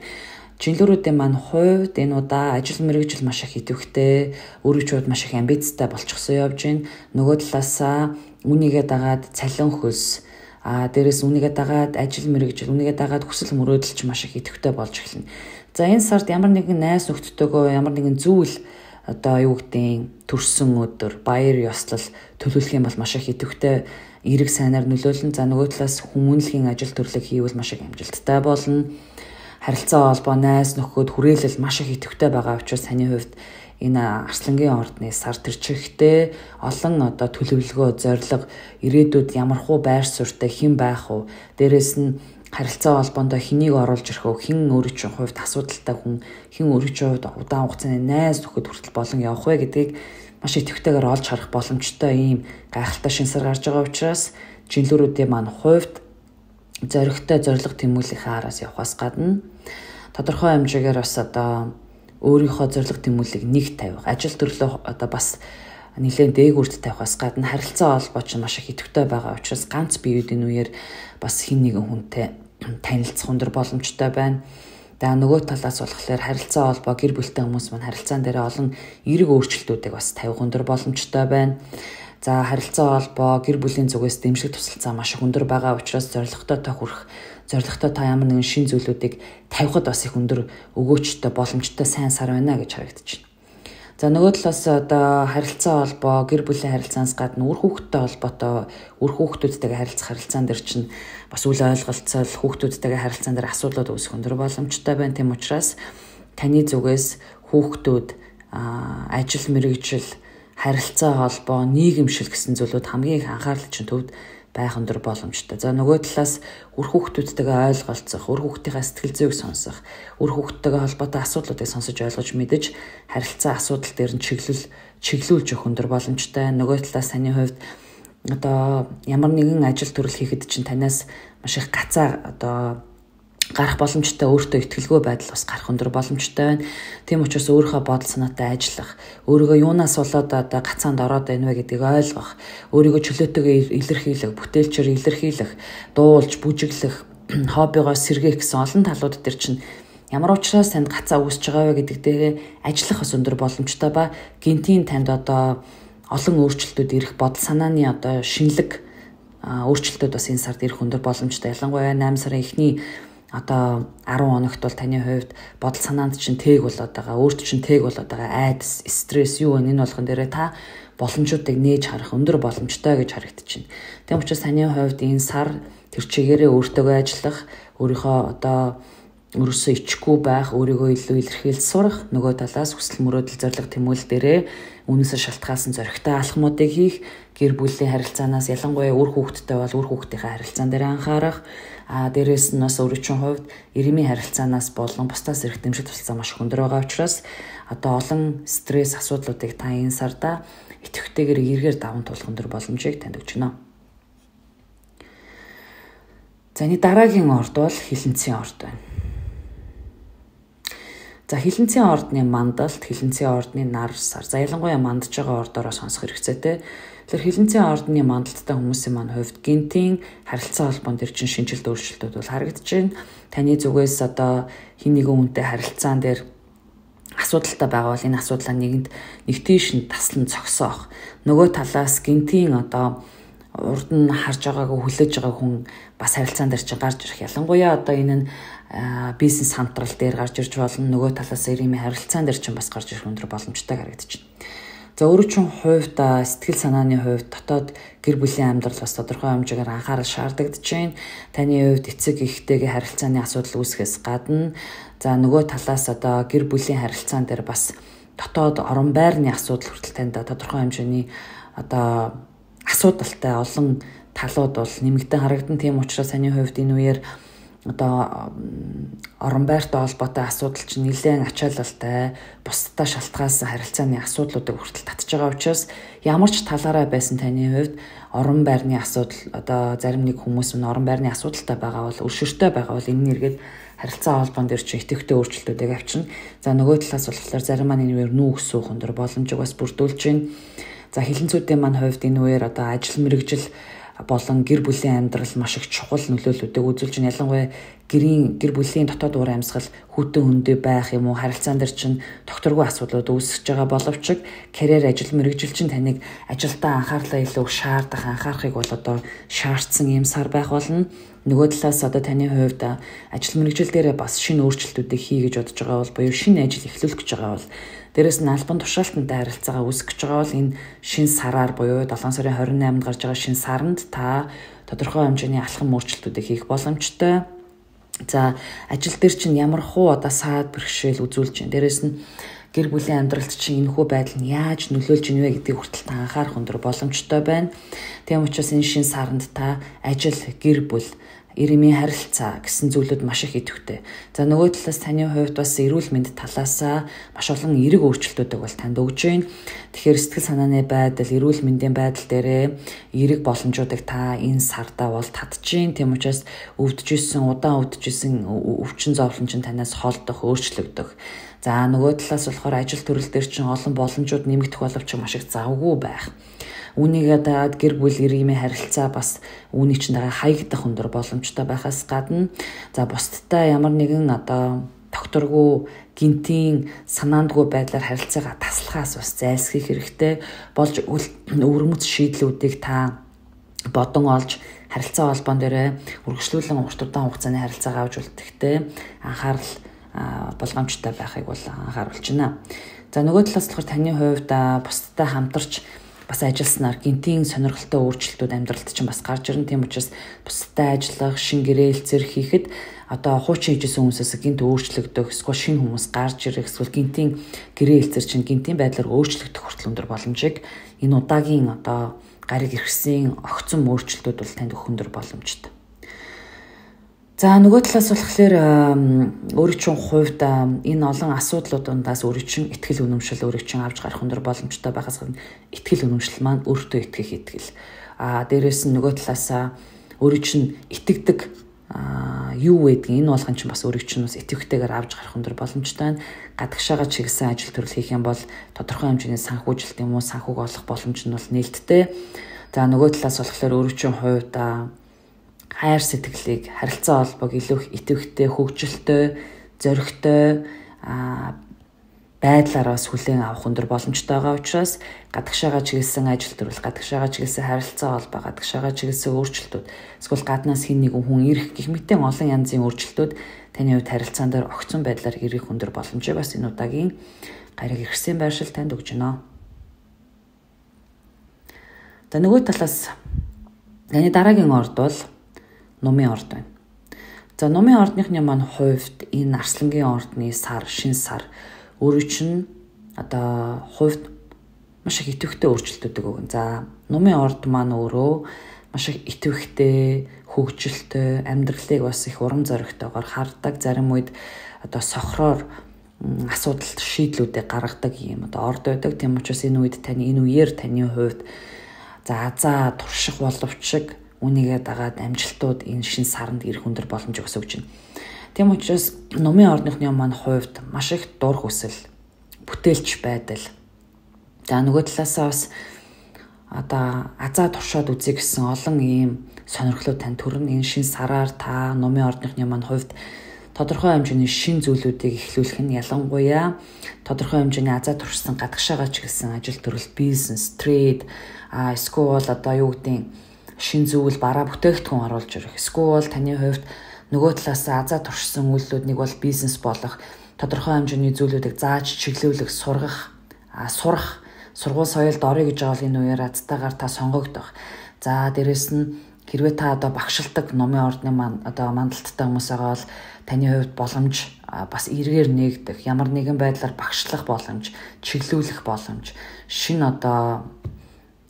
Speaker 1: Жинлүүрүүдийн маань хувьд энэ удаа ажил мэргэжил маш их идэвхтэй, өөрөөр маш их амбицтай болчихсон явж байна. Нөгөө талаасаа үнийгээ дагаад цалин хөлс, дээрээс үнийгээ дагаад ажил мэргэжил, үнийгээ дагаад хүсэл мөрөөдөлч маш их идэвхтэй болж эхэлнэ. За энэ сард ямар нэгэн найз нөхдөдөө ямар нэгэн зүйл одоо юу гэдэг төрсөн өдөр баяр ёслол төлөвлөх юм бол маш их идэвхтэй эрэг сайнаар нөлөөлнө. За нөгөө талаас хүмүүнлэгийн ажил төрлөг хийвэл маш их амжилттай болно. Харилцаа холбоо, найз нөхөд хүрээлэл маш их идэвхтэй байгаа учраас таны хувьд энэ Арслангийн ордны сар төрчихтэй олон одоо төлөвлөгөө, зориг, ирээдүйд ямархуу байр суурьтай хэн байх вэ? Дээрээс нь харилцаа холбоонд хэнийг оруулж ирэх вэ? Хэн өөрийнхөө хувьд асуудалтай хүн, хэн өөрийнхөө хувьд удаан хугацааны найз нөхөд хүртэл болон явах вэ гэдгийг маш идэвхтэйгээр олж харах боломжтой ийм гайхалтай шинэ сар гарч байгаа учраас жинлүүрүүдийн маань хувьд зоригтой зориг тэмүүлэхээ араас явахаас гадна тодорхой хэмжээгээр бас одоо өөрийнхөө зориг тэмүүлийг нэг тавих, ажил төрлөө одоо бас нэлээд дээгүүрт тавихаас гадна харилцаа холбоо ч маш их идэвхтэй байгаа учраас ганц биеүүдийн үеэр бас хин нэгэн хүнтэй танилцах өндөр боломжтой байна. За нөгөө талаас болохоор харилцаа холбоо гэр бүлтэй хүмүүс маань харилцаан дээр олон эерэг өөрчлөлтүүдийг бас тавих өндөр боломжтой байна. За харилцаа холбоо гэр бүлийн зүгээс дэмжлэг тусалцаа маш их өндөр байгаа учраас зорилготой та хүрэх, зорилготой та ямар нэгэн шин зүйлүүдийг тавихад бас их өндөр өгөөчтэй боломжтой сайн сар байна гэж харагдаж байна. За нөгөө талаас одоо харилцаа холбоо гэр бүлийн харилцаанаас гадна үр хүүхдтэй холбоотой үр хүүхдүүдтэйгээ харилцах харилцаан дээр чинь бас үл ойлголцол хүүхдүүдтэйгээ харилцаан дээр асуудлууд үүсэх өндөр боломжтой байна. Тийм учраас таны зүгээс хүүхдүүд ажил мэргэжил харилцаа холбоо нийгэмшил гэсэн зүйлүүд хамгийн их анхаарал чинь төвд байх өндөр боломжтой. За нөгөө талаас үр хүүхдүүдтэйгээ ойлголцох, үр хүүхдийнхээ сэтгэл зүйг сонсох, үр хүүхдтэйгээ холбоотой асуудлуудыг сонсож ойлгож мэдэж харилцаа асуудал дээр нь чиглүүлж өгөх өндөр боломжтой. Нөгөө талаас таны хувьд одоо ямар нэгэн ажил төрөл хийхэд чинь танаас маш их гацаа одоо гарах боломжтой, өөртөө итгэлгүй байдал бас гарах өндөр боломжтой байна. Тийм учраас өөрийнхөө бодол санаатай ажиллах, өөрийгөө юунаас болоод одоо гацаанд ороод байна вэ гэдгийг ойлгох, өөрийгөө чөлөөтэйгээр илэрхийлэх, бүтээлчээр илэрхийлэх, дуулж, бүжиглэх, хоббигоо сэргээх гэсэн олон талууд дээр чинь ямар учраас танд гацаа үүсэж байгаа вэ гэдэг дээрээ ажиллах бас өндөр боломжтой ба гинтийн танд одоо олон өөрчлөлтүүд ирэх, бодол санааны одоо шинэлэг өөрчлөлтүүд бас энэ сард ирэх өндөр боломжтой. Ялангуяа 8 сарын эхний одоо 10 хоногт бол таны хувьд бодол санаанд чинь тээг болоод байгаа, өөрт чинь тээг болоод байгаа айдас, стресс юу вэ? Энэ болгон дээрээ та боломжуудыг нээж харах өндөр боломжтой гэж харагдаж байна. Тийм учраас таны хувьд энэ сар тэр чигээрээ өөртөөгөө ажиллах, өөрийнхөө одоо өрөөсөө ичихгүй байх, өөрийгөө илүү илэрхийлж сурах, нөгөө талаас хүсэл мөрөөдөл зориг тэмүүлэл дээрээ үнээсээ шалтгаалсан зоригтой алхмуудыг хийх, гэр бүлийн харилцаанаас ялангуяа үр хүүхдтэй бол үр хүүхдийнхээ харилцаан дээр анхаарах, дээрээс нь бас өөрийнхөө хувьд ирэмийн харилцаанаас болон бусдаас ирэх дэмжлэг тусалцаа маш өндөр байгаа учраас одоо олон стресс асуудлуудыг та энэ сарда идэвхтэйгээр эргээр даван туулах өндөр боломжийг танд өгч байна. За энэ дараагийн орд бол хилэнцгийн орд байна. За хилэнцгийн ордны мандалт, хилэнцгийн ордны нар сар. За ялангуяа мандж байгаа ордоороо сонсох хэрэгцээтэй. Тэгэхээр хилэнцгийн ордны мандалттай хүмүүсийн маань хувьд гинтийн харилцаа холбоон төр чинь шинжилт өөрчлөлтүүд бол харагдаж байна. Таны зүгээс одоо хин нэгэн хүнтэй харилцаан дээр асуудалтай байгаа бол энэ асуудлаа нэг тийш нь таслан зогсоох. Нөгөө талаас гинтийн одоо урд нь харж байгаагүй хүлээж байгаа хүн бас харилцаан дээр чинь гарч ирэх. Ялангуяа одоо энэ нь бизнес хамтрал дээр гарч ирж болно. Нөгөө талаас ирэмийн харилцаан дээр чинь бас гарч ирэх өндөр боломжтой харагдаж байна. За өөрөөр хувьд сэтгэл санааны хувьд дотоод гэр бүлийн амьдрал бас тодорхой хэмжээгээр анхаарал шаардагдаж байна. Таны хувьд эцэг эхтэйгээ харилцааны асуудал үүсгэхээс гадна за нөгөө талаас одоо гэр бүлийн харилцаан дээр бас дотоод орон байрны асуудал хүртэл танд тодорхой хэмжээний одоо асуудалтай олон талууд бол нэмэгдэн харагдан. Тийм учраас таны хувьд энэ үеэр одоо орон байртай холбоотой асуудал чинь нэлээд ачаалалтай, бусдад шалтгаалсан харилцааны асуудлуудыг хүртэл татж байгаа учраас ямар ч талаараа байсан таны хувьд орон байрны асуудал, одоо зарим нэг хүмүүс нь орон байрны асуудалтай байгаа бол, өршөөртэй байгаа бол энэ нэргээд харилцаа холбоон дээр чи итэвхтэй өөрчлөлтүүдийг авчирна. За нөгөө талаас болохоор зарим маань энэ үеэр нүүх суух өндөр боломжийг бас бүрдүүлж байна. За хилэнцүүдийн маань хувьд энэ үеэр одоо ажил мэргэжил болон гэр бүлийн амьдрал маш их чухал нөлөөллүүдийг үзүүлж байна. Ялангуяа гэр бүлийн дотоод уур амьсгал хүйтэн хөндөө байх юм уу, харилцаан дээр чинь докторгүй асуудлууд үүсэж байгаа боловч карьер ажил мэргэжил чинь таныг ажилдаа анхаарлаа илүү шаардах, анхаарахыг бол одоо шаардсан юм сар байх болно. Нөгөө талаас одоо таны хувьд ажил мэргэжил дээр бас шинэ өөрчлөлтүүдийг хий гэж бодож байгаа бол буюу шинэ ажил эхлүүлэх гэж байгаа бол дээрээс нь албан тушаалтантай харилцаагаа үүсгэж байгаа бол энэ шинэ сараар буюу 7 сарын 28-нд гарч байгаа шинэ саранд та тодорхой хэмжээний алхам өөрчлөлтүүдийг хийх боломжтой. За ажил дээр чинь ямар хуу одоо саад бэрхшээл үзүүлж байна. Дээрээс нь гэр бүлийн амьдралд чинь энэхүү байдал нь яаж нөлөөлж ийнвэ гэдгийг хүртэл та анхаарах өндөр боломжтой байна. Тийм учраас энэ шинэ саранд та ажил, гэр бүл, ирэмийн харилцаа гэсэн зүйлүүд маш их идэвхтэй. За нөгөө талаас таны хувьд бас эрүүл мэнд талаасаа маш олон эерэг өөрчлөлтүүдийг бол танд өгж байна. Тэгэхээр сэтгэл санааны байдал, эрүүл мэндийн байдал дээрээ эерэг боломжуудыг та энэ сардаа бол татж байна. Тийм учраас удаан өвдөжсэн өвчин зовлон чинь танаас холдох, өөрчлөгдөх. За нөгөө талаас болохоор ажил төрөл дээр чинь олон боломжууд нэмэгдэх боловч маш их завгүй байх. Үүнийгээ дагаад гэр бүл иргэмийн харилцаа бас үүнийг чинь дагаа хаягдах өндөр боломжтой байхаас гадна за бусдтай ямар нэгэн одоо докторгүй гинтийн санаандгүй байдлаар харилцаагаа таслахаас бас зайлсхийх хэрэгтэй болж өвөрмөц шийдлүүдийг та бодон олж харилцаа холбоон дээр үргэлжлүүлэн урт удаан хугацааны харилцаагаа авч үлдэхтэй анхаарал болгоомжтой байхыг бол анхааруулж байна. За нөгөө талаас болохоор таны хувьд бусдтай хамтарч бас ажилласнаар гинтийн сонирхолтой өөрчлөлтүүд амьдралд чинь бас гарч ирнэ. Тийм учраас бусдтай ажиллах, шин гэрээлцэр хийхэд одоо хуучин хийжсэн хүмүүсээс гинт өөрчлөгдөх, эсвэл шинэ хүмүүс гарч ирэх, эсвэл гинтийн гэрээлцэр чинь гинтийн байдлаар өөрчлөгдөх хүртэл өндөр боломжийг энэ удаагийн одоо гариг иргэсийн огцом өөрчлөлтүүд бол танд өгөх өндөр боломжтой. За нөгөө талаас болохоор өөрийн чинь хувьд энэ олон асуудлуудаас өөрийн чинь ихтгэл үнэмшил өөрийн чинь авч гарах өндөр боломжтой байхаас гадна ихтгэл үнэмшил маань өөртөө итгэх итгэл. Дээрээс нь нөгөө талаас өөрийн чинь итгэдэг юу байдгийг энэ болгон чинь бас өөрийн чинь бас итгэвтэйгээр авч гарах өндөр боломжтой. Гадагшаага чиглэсэн ажил төрөл хийх юм бол тодорхой хэмжээний санхүүжилт юм уу санхүүг олох боломж нь бол нээлттэй. За нөгөө талаас болохоор өөрийн чинь хувьд хайр сэтгэлийг, харилцаа холбоог илүү их идэвхтэй, хөгжилтэй, зоригтой байдлаар бас хүлээн авах өндөр боломжтой байгаа учраас гадагшаага чиглэсэн ажил төрөл, гадагшаага чиглэсэн харилцаа холбоо, гадагшаага чиглэсэн өөрчлөлтүүд, эсвэл гаднаас хэн нэгэн хүн ирэх гэх мэт олон янзын өөрчлөлтүүд таны хувьд харилцаан дээр огцон байдлаар ирэх өндөр боломжийг бас энэ удаагийн гариг иргэсийн байршил танд өгж байна. За нөгөө талаас таны дараагийн орд бол Номын орд байна. За Номын ордныхны маань хувьд энэ Арслангийн ордны сар, шинэ сар өөрөө чинь одоо хувьд маш их идэвхтэй өөрчлөлтүүдийг өгнө. За Номын орд маань өөрөө маш их идэвхтэй, хөгжилтэй, амьдралыг бас их урам зоригтойгоор хардаг. Зарим үед одоо сохроор асуудалт шийдлүүдийг гаргадаг юм одоо орд байдаг. Тийм учраас энэ үеэр таны хувьд турших боловч үнийгээ дагаад амжилтууд энэ шин саранд ирэх өндөр боломж өгсөж байна. Тийм учраас Номын ордныхны маань хувьд маш их дур хүсэл, бүтээлч байдал. За нөгөө талаасаа бас одоо азаа туршаад үзье гэсэн олон ийм сонирхлууд тань төрн энэ шин сараар та Номын ордныхны маань хувьд тодорхой хэмжээний шин зүйлүүдийг эхлүүлэх нь ялангуяа тодорхой хэмжээний азаа туршсан гадагшаага чиглэсэн ажил төрөл, бизнес, трейд, эсвэл одоо юу гэдэг шин зүйл бараа бүтээгдэхүүн оруулж ирэх. Эсвэл таны хувьд нөгөө талаас азаа туршсан үйлдэлүүднийг бол бизнес болох тодорхой хэмжээний зүйлүүдийг зааж чиглүүлэх, сурах, сургууль соёлд орё гэж байгаа энэ үеэр азтайгаар та сонгогдох. За дээрэс нь хэрвээ та одоо багшилдаг Номын ордны одоо мандалттай хүмүүс байгаа бол таны хувьд боломж бас эргээр нээгдэх, ямар нэгэн байдлаар багшлах боломж, чиглүүлэх боломж, шин одоо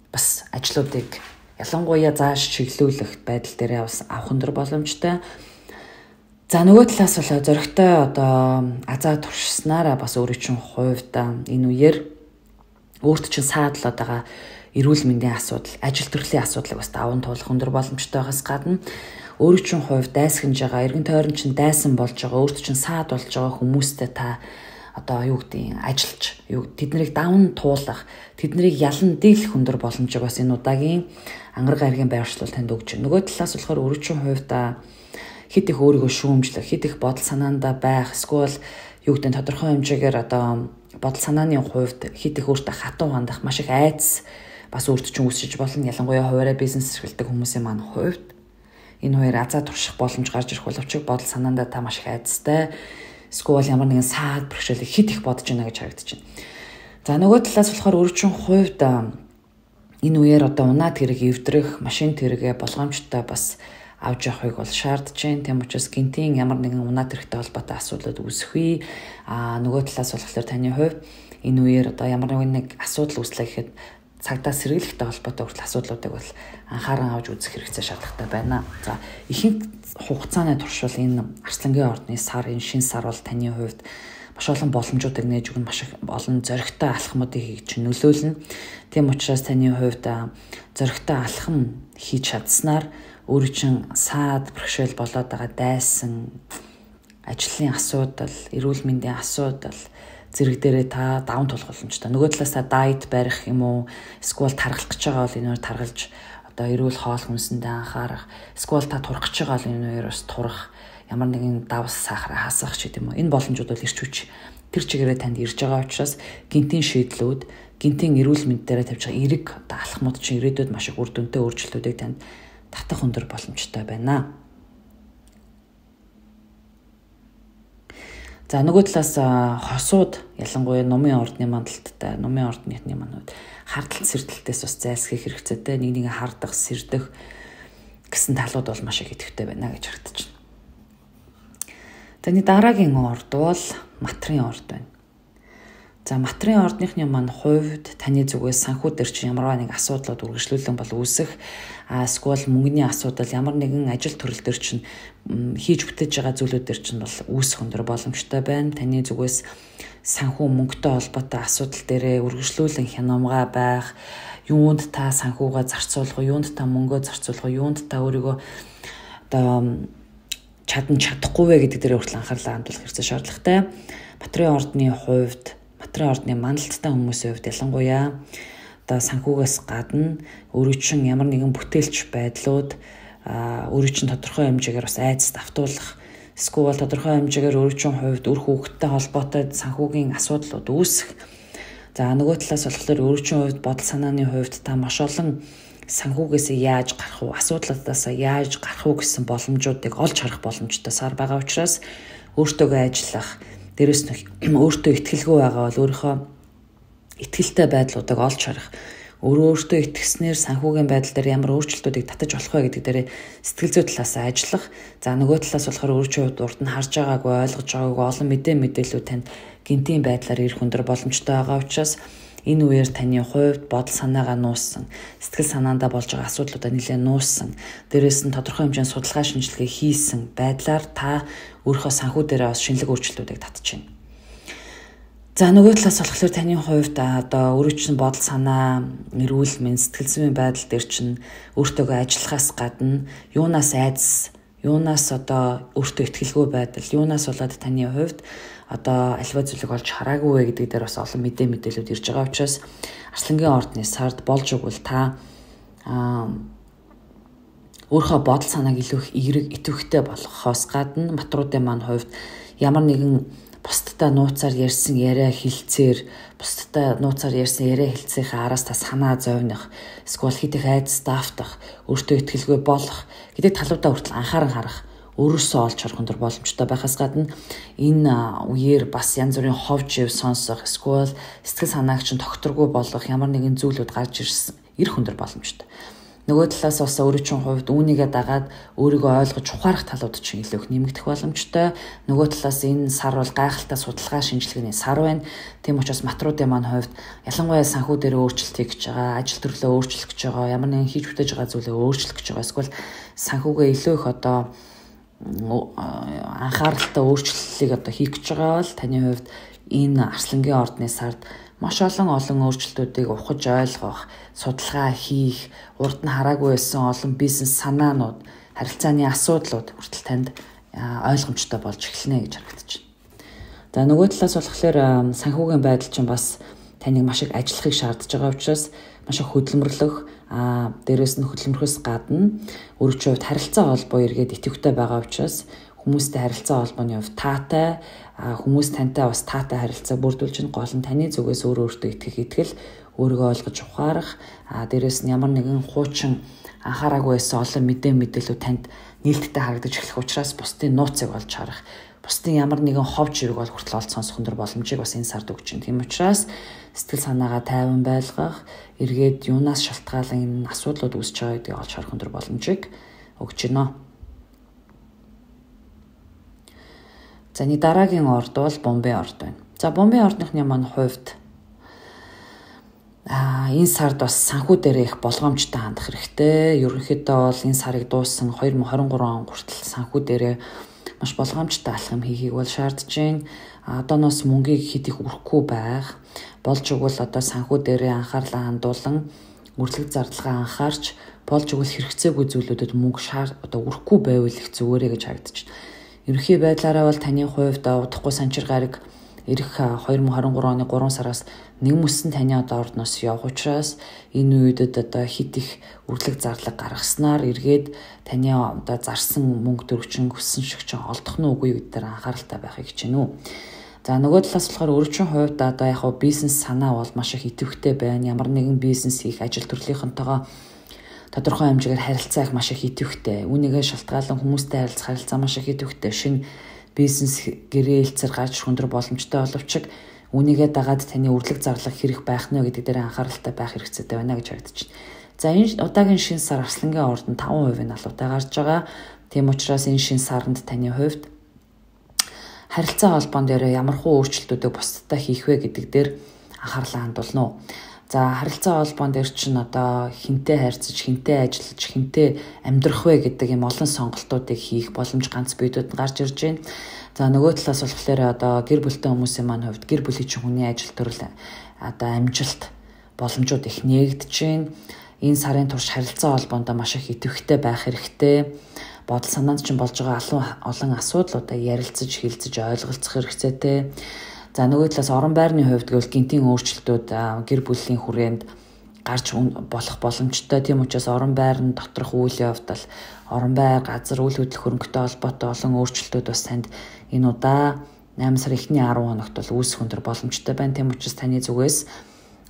Speaker 1: бас ажлуудыг ялангуяа зааш чиглүүлэх байдал дээр бас авах өндөр боломжтой. За нөгөө талаас бол зөрөгтэй одоо азаа туршснараа бас өөрөө чинь хувьд энэ үеэр өөрт чинь саадлаад байгаа эрүүл мэндийн асуудал, ажил төрлийн асуудлыг бас даван туулах өндөр боломжтой байгаас гадна өөрөө чинь хувьд дайсхинж байгаа, эргэн тойрон чинь дайсан болж байгаа, өөрт чинь саад болж байгаа хүмүүстэй та одоо юу гэдгийг ажиллаж, тэднийг даван туулах, тэднийг ялан дийлэх өндөр боломжийг бас энэ удаагийн ангараг гарагийн байршлал танд өгч байна. Нөгөө талаас болохоор өөрөө чинь хувьд хэд их өөрийгөө шүүмжлэх, хэд их бодол санаандаа байх, эсвэл юу гэдэг нь тодорхой хэмжээгээр одоо бодол санааны хувьд хэд их өөртөө хатуу хандах, маш их айдас бас өөрт чинь үүсэж болно. Ялангуяа хуваараа бизнес эрхэлдэг хүмүүсийн маань хувьд энэ хоёр азаа турших боломж гарч ирэх боловч бодол санаандаа та маш их айдастай, эсвэл ямар нэгэн саад бэрхшээлийг хэд их бодож байна гэж харагдаж байна. За нөгөө талаас болохоор өөрөө чинь хувьд энэ үеэр одоо унаад хэрэг эвдрэх, машин тэргээ болгоомжтой бас авч явахыг бол шаардж байна. Тийм учраас гинтийн ямар нэгэн унаад хэрэгтэй холбоотой асуудлууд үүсэхгүй. Нөгөө талаас болохоор таны хувьд энэ үеэр одоо ямар нэг асуудал үүслэх гэхэд цагдаа сэргийлэхтэй холбоотой хүртэл асуудлуудыг бол анхааран авч үзэх хэрэгцээ шаардлагатай байна. За ихэнх хугацааны туршвал энэ Арслангийн ордны сар, энэ шинэ сар бол таны хувьд маш олон боломжуудыг нээж өгнө, маш их олон зоригтой алхмуудыг хийж нөлөөлнө. Тийм учраас таны хувьд зоригтой алхам хийж чадсанаар өөрөө чинь саад бэрхшээл болоод байгаа дайсан ажлын асуудал, эрүүл мэндийн асуудал зэрэг дээрээ та даван тулах боломжтой. Нөгөө талаас та дайет барих юм уу, эсвэл тархалж гэж байгаа бол энэ тархалж одоо эрүүл хоол хүнсэндээ анхаарах, эсвэл та турах гэж байгаа бол энэ хоёр бас турах, ямар нэгэн давс сахар хасах ч гэдэм үү. Энэ боломжууд бол ирч хүч тэр чигээрээ танд ирж байгаа учраас гинтийн шийдлүүд, гинтийн эрүүл мэнд дээр тавьж байгаа эерэг одоо алхмууд чинь ирээдүйд маш их үр дүнтэй өөрчлөлтүүдийг танд татах өндөр боломжтой байна. За нөгөө талаас хосууд ялангуяа номын ордны мандалттай, номын ордныхны манууд хардтал сэрдэлтээс бас зайлсхийх хэрэгцээтэй, нэг хардах, сэрдэх гэсэн талууд бол маш их идэвхтэй байна гэж харагдаж байна. За энэ дараагийн орд бол матрын орд байна. За матрын ордныхны маань хувьд таны зүгээс санхүү дээр чинь ямар нэг асуудлууд үргэлжлүүлэн бол үүсэх, эсвэл мөнгөний асуудал, ямар нэгэн ажил төрөл дээр чинь хийж бүтээж байгаа зүйлүүд дээр чинь бол үүсэх өндөр боломжтой байна. Таны зүгээс санхүү мөнгөтэй холбоотой асуудал дээрээ үргэлжлүүлэн хянамгаа байх, юунд та санхүүгээ зарцуулах уу, юунд та мөнгөө зарцуулах уу, юунд та өөрийгөө одоо чадахгүй вэ гэдэг дээр хүртэл анхаарлаа хандуулах хэрэгцээ шаардлагатай. Матрын ордны хувьд, матрын ордны мандалттай хүмүүсийн хувьд ялангуяа одоо санхүүгээс гадна өөрөө чинь ямар нэгэн бүтээлч байдлууд өөрөө чинь тодорхой хэмжээгээр бас айдас давтуулах, эсвэл тодорхой хэмжээгээр өөрөө чинь хувьд үр хүүхэдтэй холбоотой санхүүгийн асуудлууд үүсэх. За нөгөө талаас болохоор өөрөө чинь хувьд бодол санааны хувьд та маш олон санхүүгээс яаж гарах уу, асуудлуудаас яаж гарах уу гэсэн боломжуудыг олж харах боломжтой сар байгаа учраас өөртөөгөө ажиллах, дээрэс нь өөртөө итгэлгүй байгаа бол өөрийнхөө итгэлтэй байдлуудыг олж харах, өөртөө итгэснээр санхүүгийн байдал дээр ямар өөрчлөлтүүдийг татаж болох вэ гэдэг дээр сэтгэл зүй талаас ажиллах. За нөгөө талаас болохоор өөрчөө урд нь харж байгаагүй, ойлгож байгаагүй олон мэдээлүүд танд гинтийн байдлаар ирэх өндөр боломжтой байгаа учраас энэ үеэр таны хувьд бодол санаагаа нууссан, сэтгэл санаандаа болж байгаа асуудлуудаа нэлээд нууссан, дээрээс нь тодорхой хэмжээний судалгаа шинжилгээ хийсэн байдлаар та өөрийнхөө санхүү дээрээ бас шинэлэг өөрчлөлтүүдийг татж байна. За нөгөө талаас болохоор таны хувьд одоо өөрөө чинь бодол санаа, эрүүл мэнд, сэтгэл зүйн байдал дээр чинь өөртөөгөө ажиллахаас гадна юунаас айдас, юунаас одоо өөртөө итгэлгүй байдал, юунаас болоод таны хувьд одоо альва зүйлийг олж хараагүй вэ гэдэг дээр бас олон мэдээлүүд ирж байгаа учраас Арслангийн ордны сард болж өгвөл та өөрийнхөө бодол санааг илүү их эерэг идэвхтэй болгохоос гадна матруудын маань хувьд ямар нэгэн бусдтай нууцаар ярьсан яриа хэлцээр, бусдтай нууцаар ярьсан яриа хэлцээхээ араас та санаа зовних, эсвэл хэд их айдас даавтах, өөртөө итгэлгүй болох гэдэг талуудаа хүртэл анхааран харах, өөрөөсөө олж харах өндөр боломжтой байхаас гадна энэ үеэр бас янз бүрийн ховж ив сонсох, эсвэл сэтгэл санааг чинь тогтворгүй болгох ямар нэгэн зүйлүүд гарч ирэх өндөр боломжтой. Нөгөө талаас бас өөрөө чинь хувьд үүнийгээ дагаад өөрийгөө ойлгож ухаарах талууд чинь илүү их нэмэгдэх боломжтой. Нөгөө талаас энэ сар бол гайхалтай судалгаа шинжилгээний сар байна. Тийм учраас матруудын маань хувьд ялангуяа санхүү дээр өөрчлөлт хийж байгаа, ажил төрлөө өөрчлөх гэж байгаа, ямар нэгэн хийж бүтээж байгаа зүйлээ өөрчлөх гэж байгаа. Эсвэл санхүүгээ илүү их одоо анхааралтай өөрчлөлтийг одоо хийх гэж байгаа бол таны хувьд энэ Арслангийн ордны сард маш олон өөрчлөлтүүдийг ухаж ойлгох, судалгаа хийх, урд нь хараагүй байсан олон бизнес санаанууд, харилцааны асуудлууд хүртэл танд ойлгомжтой болж эхэлнэ гэж харагдаж байна. За нөгөө талаас болохоор санхүүгийн байдал чинь бас таныг маш их ажиллахыг шаардж байгаа учраас маш их хөдөлмөрлөх, дээрээс нь хөдөлмөрхөөс гадна өөрийнхөө хувьд харилцаа холбоо эргээд идэвхтэй байгаа учраас хүмүүстэй харилцаа холбооны хувьд таатай, хүмүүс тантай бас таатай харилцаа бүрдүүлж чинь гол нь таны зүгээс өөртөө итгэл, өөрийгөө ойлгож ухаарах, дээрээс нь ямар нэгэн хуучин анхаараагүй байсан олон мэдээлэлүүд танд нээлттэй харагдаж эхлэх учраас бусдын нууцыг олж харах, бусдын ямар нэгэн ховж хэрэг бол хүртэл олж сонсох өндөр боломжийг бас энэ сард өгч байна. Тийм учраас сэтгэл санаагаа тайван байлгах, эргээд юунаас шалтгаалan энэ асуудлууд үүсэж байгаа гэдгийг олж харах өндөр боломжийг өгч байна. За нэг дараагийн орд бол Бомбей орд байна. За Бомбей ордныхны маань хувьд энэ сард бас санхүү дээр их болгоомжтой хандах хэрэгтэй. Ерөнхийдөө бол энэ сарыг дууссан 2023 он хүртэл санхүү дээр маш болгоомжтой алхам хийхийг бол шаардж байна. Одооноос мөнгийг хэд их өрөхгүй байх. Болж игэл одоо санхүү дээр анхаарлаа хандуулан үрлэг зардлага анхаарч болж игэл хэрэгцээгүй зүйлүүдэд мөнгө одоо өрөхгүй байвал их зүгээрээ гэж харагдаж байна. Ерөнхий байдлаараа бол таны хувьд удахгүй санчир гараг ирэх 2023 оны 3 сараас нэгмөсөн таны одоо ордноос явах учраас энэ үедэд одоо хит их үрлэг зарлаг гаргаснаар эргээд таны одоо зарсан мөнгө төгрөгчин хүссэн шиг ч олдох нь үгүй гэдгээр анхааралтай байхыг хичээнэ үү. За нөгөө талаас болохоор өөрийн хувьд одоо яг бизнес санаа бол маш их идэвхтэй байна. Ямар нэгэн бизнес хийх, ажил төрлийнхөнтэйгээ тодорхой хэмжээгээр харилцаа их маш их идэвхтэй. Үүнийгээ шалтгаалan хүмүүстэй харилцах харилцаа маш их идэвхтэй. Шинэ бизнес гэрээлцэр гарч өндөр боломжтой боловч үүнийгээ дагаад таны үрлэг зарлах хэрэг байх нь гэдэг дээр анхааралтай байх хэрэгцээтэй байна гэж харагдаж байна. За энэ удаагийн шинэ сар Арслангийн ордонд 5% алуутай гарч байгаа. Тийм учраас энэ шинэ саранд таны хувьд харилцаа холбоон дээр ямархуу өөрчлөлтүүдийг бусдад хийх вэ гэдэг дээр анхаарлаа хандуулна уу. За харилцаа холбоон дээр чинь одоо хинтээ харьцаж, хинтээ ажиллаж, хинтээ амьдрах вэ гэдэг юм олон сонголтуудыг хийх боломж ганц биедүүд гарч ирж байна. За нөгөө талаас болохоор одоо гэр бүлтэй хүмүүсийн маань хувьд гэр бүлийн чинь хүний ажил төрөл одоо амжилт боломжууд их нээгдэж байна. Энэ сарын турш харилцаа холбоонд маш их идэвхтэй байх хэрэгтэй. Бодол санаанд чинь болж байгаа олон асуудлуудаа ярилцаж, хэлцэж, ойлголцох хэрэгцээтэй. За нөгөө талаас орон байрны хувьд гэвэл гинтийн өөрчлөлтүүд гэр бүлийн хүрээнд гарч болох боломжтой. Тийм учраас орон байрны доторх үйл явдал, орон байр, газар үйл хөдлөх хөрөнгөтэй холбоотой олон өөрчлөлтүүд бас танд энэ удаа 8 сарын эхний 10 хоногт бол үүсэх өндөр боломжтой байна. Тийм учраас таны зүгээс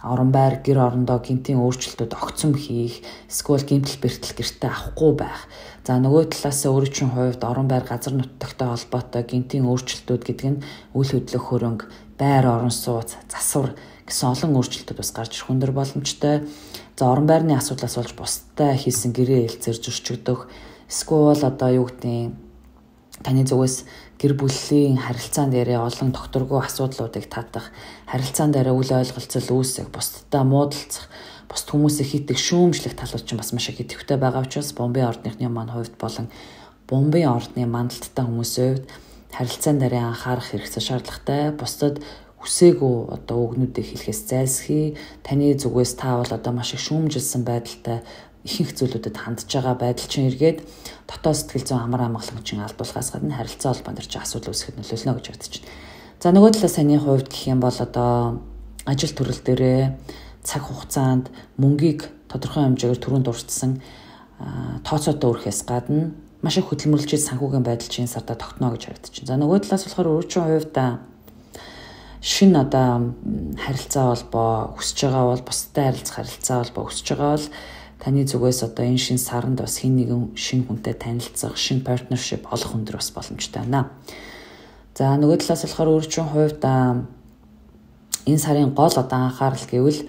Speaker 1: орон байр, гэр орондоо гинтийн өөрчлөлтүүд огцом хийх, эсвэл гинтл бэртэл гэртээ авахгүй байх. За нөгөө талаас өөрийн хувьд орон байр, газар нутагтай холбоотой гинтийн өөрчлөлтүүд гэдэг нь үйл хөдлөх хөрөнгө, байр орон сууц, засвар гэсэн олон өөрчлөлтүүд бас гарч ирэх өндөр боломжтой. За орон байрны асуудлаас болж бусдад хийсэн гэрээ хэлцээр зөрчигдөх, эсвэл одоо юу гэдэг таны зүгээс гэр бүлийн харилцаан дээрээ олон докторгүй асуудлуудыг татах, харилцаан дээрээ үл ойлголцол үүсэх, бусдад муудалцах, бусд хүмүүсийг хитэх, шүүмжлэх талууд чинь бас маш их идэвхтэй байгаа учраас Бомбей ордныхны маань хувьд болон Бомбей ордны мандалттай хүмүүсийн хувьд харилцаан дээрээ анхаарах хэрэгцээ шаардлагатай. Бусдад үсээгүй одоо үгнүүдийг хэлэхээс зайлсхий. Таны зүгээс та бол одоо маш их шүүмжилсэн байдалтай ихэнх зүйлүүдэд хандж байгаа байдал чинь эргээд дотоод сэтгэл зүйн амар амгалангчин алдуулахаас гадна харилцаа холбоон дээр чинь асуудал үүсгэхэд нөлөөлнө гэж бодож байна. За нөгөө талаас саний хувьд гэх юм бол одоо ажил төрөл дээрээ цаг хугацаанд мөнгийг тодорхой хэмжээгээр түрүүнд дурдсан тооцоотой өрөхөөс гадна маш их хөдөлмөрлөж санхүүгийн байдал чинь сардаа тогтно гэж харагдаж байна. За нөгөө талаас болохоор өөрийн хувьд шинэ одоо харилцаа холбоо өсөж байгаа бол бусдад харилцах харилцаа холбоо өсөж байгаа бол таны зүгээс одоо энэ шинэ саранд бас хин нэгэн шинэ хүнтэй танилцах, шинэ партнершип олох өндөр бас боломжтой байна. За нөгөө талаас болохоор өөрийн хувьд энэ сарын гол одоо анхаарал гэвэл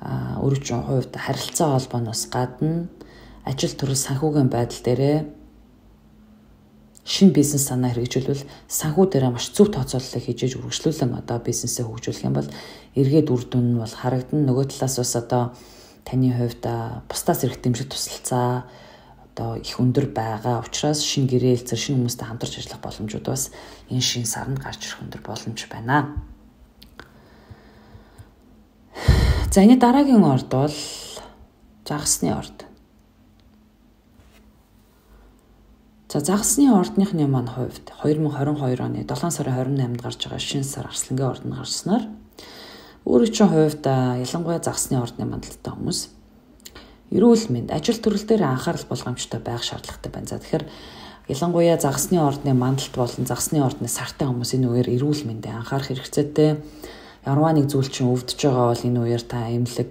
Speaker 1: өөрийн хувьд харилцаа холбооноос гадна ажил төрөл санхүүгийн байдал дээрээ шинэ бизнес санаа хэрэгжүүлвэл санхүү дээрээ маш зөв тооцооллыг хийж үргэлжлүүлэн одоо бизнесээ хөгжүүлэх юм бол эргээд үр дүн нь бол харагдана. Нөгөө талаас бас одоо таны хувьд бусдаас ирэх дэмжлэг тусалцаа, одоо их өндөр байгаа учраас шинэ гэрээлзэр шинэ хүмүүстэй хамтарч ажиллах боломжууд бас энэ шинэ сарнд гарч ирэх өндөр боломж байна. За энэ дараагийн орд бол загасны орд. За загасны ордныхны маань хувьд 2022 оны 7 сарын 28-нд гарч байгаа шинэ сар Арслангийн орд нь гарснаар өөрийн чинь хувьд ялангуяа загасны ордны мандалтай хүмүүс эрүүл мэнд, ажил төрөл дээр анхаарал болгоомжтой байх шаардлагатай байна. За тэгэхээр ялангуяа загасны ордны мандалт болон загасны ордны сартай хүмүүс энэ үеэр эрүүл мэндэд анхаарах хэрэгцээтэй. Ямарваа нэг зүйл чинь өвдөж байгаа бол энэ үеэр та эмнэлэг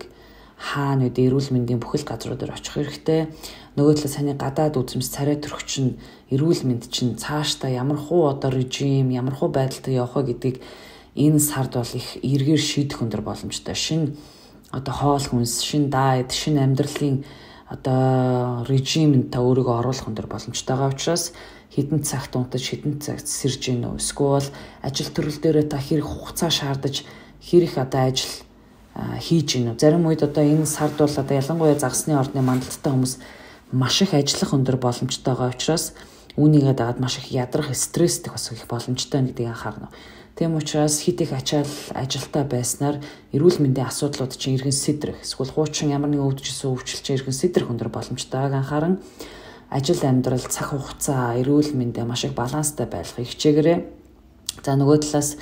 Speaker 1: хаана үдэ эрүүл мэндийн бүхэл газрууд дээр очих хэрэгтэй. Нөгөө талаас таны гадаад үзмс царай төрөх чинь эрүүл мэнд чинь цаашдаа ямар хуу одоо режим, ямар хуу байдалтай явах вэ гэдгийг энэ сард бол их эргээр шийдэх өндөр боломжтой. Шинэ одоо хоол хүнс, шинэ дайет, шинэ амьдралын одоо режимд та өөрийгөө оруулах өндөр боломжтойгаа учраас хэдэн цагт унтаж, хэдэн цагт сэрж гинөө. Эсвэл ажил төрөл дээрээ та хэрэг хугацаа шаардаж, хэрэг одоо ажил хийж гинөө. Зарим үед одоо энэ сард бол одоо ялангуяа загасны ордны мандалттай хүмүүс маш их ажиллах өндөр боломжтойгаа учраас үүнийгээ дагаад маш их ядрах, стресстэй бас их боломжтой гэдгийг анхаарна. Тийм учраас хит их ачаал ажилтаа байснаар эрүүл мэндийн асуудлууд чинь иргэн сэтрэх, эсвэл хуучин ямар нэгэн өвдөжсөн өвчлөлт чинь иргэн сэтрэх өндөр боломжтойг анхааран ажил амьдрал, цаг хугацаа, эрүүл мэндээ маш их баланстай байлгахыг хичээгээрэй. За нөгөө талаас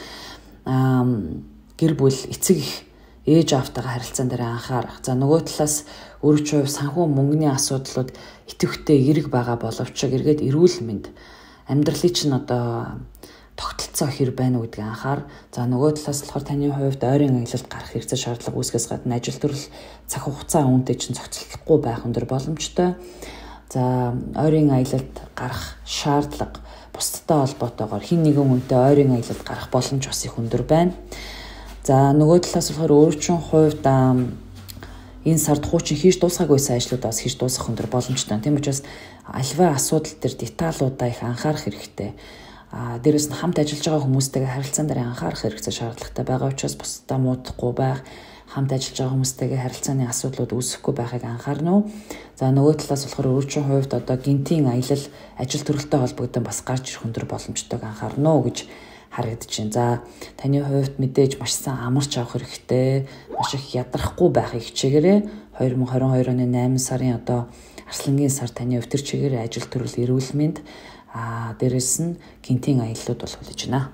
Speaker 1: гэр бүл, эцэг их, ээж аавтайгаа харилцаан дээр анхаарах. За нөгөө талаас өөрийн хувь санхүү мөнгөний асуудлууд идэвхтэй эрэг байгаа боловч эргээд эрүүл мэнд амьдралын чинь одоо тогтолцоо хэр байна уу гэдгийг анхаар. За нөгөө талаас болохоор таны хувьд ойрын аялалд гарах хэрэгцээ шаардлага үүсгэс гадна ажил төрөл цаг хугацаа үнэтэй чинь зохицолтгүй байх өндөр боломжтой. За ойрын аялалд гарах шаардлага бусдтай холбоотойгоор хэн нэгэн хүнтэй ойрын аялалд гарах боломж бас их өндөр байна. За нөгөө талаас болохоор өөрийн хувьд энэ сард хуучин хийж дуусгаагүйсэн ажлууд бас хийж дуусгах өндөр боломжтой. Тийм учраас альва асуудал төр деталуудаа их анхаарах хэрэгтэй. Дээрээс нь хамт ажиллаж байгаа хүмүүстэйгээ харилцаан дээр анхаарах хэрэгцээ шаардлагатай байгаа учраас бусдаа муудахгүй байх, хамт ажиллаж байгаа хүмүүстэйгээ харилцааны асуудлууд үүсэхгүй байхыг анхаарна уу. За нөгөө талаас болохоор өөрийн хувьд одоо гинтийн аялал, ажил төрөлтэй холбогдсон бас гарч ирэх өндөр боломжтойг анхаарна уу гэж харагдаж байна. За таны хувьд мэдээж маш сайн амарч авах хэрэгтэй, маш их ядрахгүй байхыг хичээгээрэй. 2022 оны 8 сарын одоо Арслангийн сар таны өвтөр чигээр ажил төрөл эрүүл мэнд дээрээс нь гинтийн аяллууд бол хүлээж байна.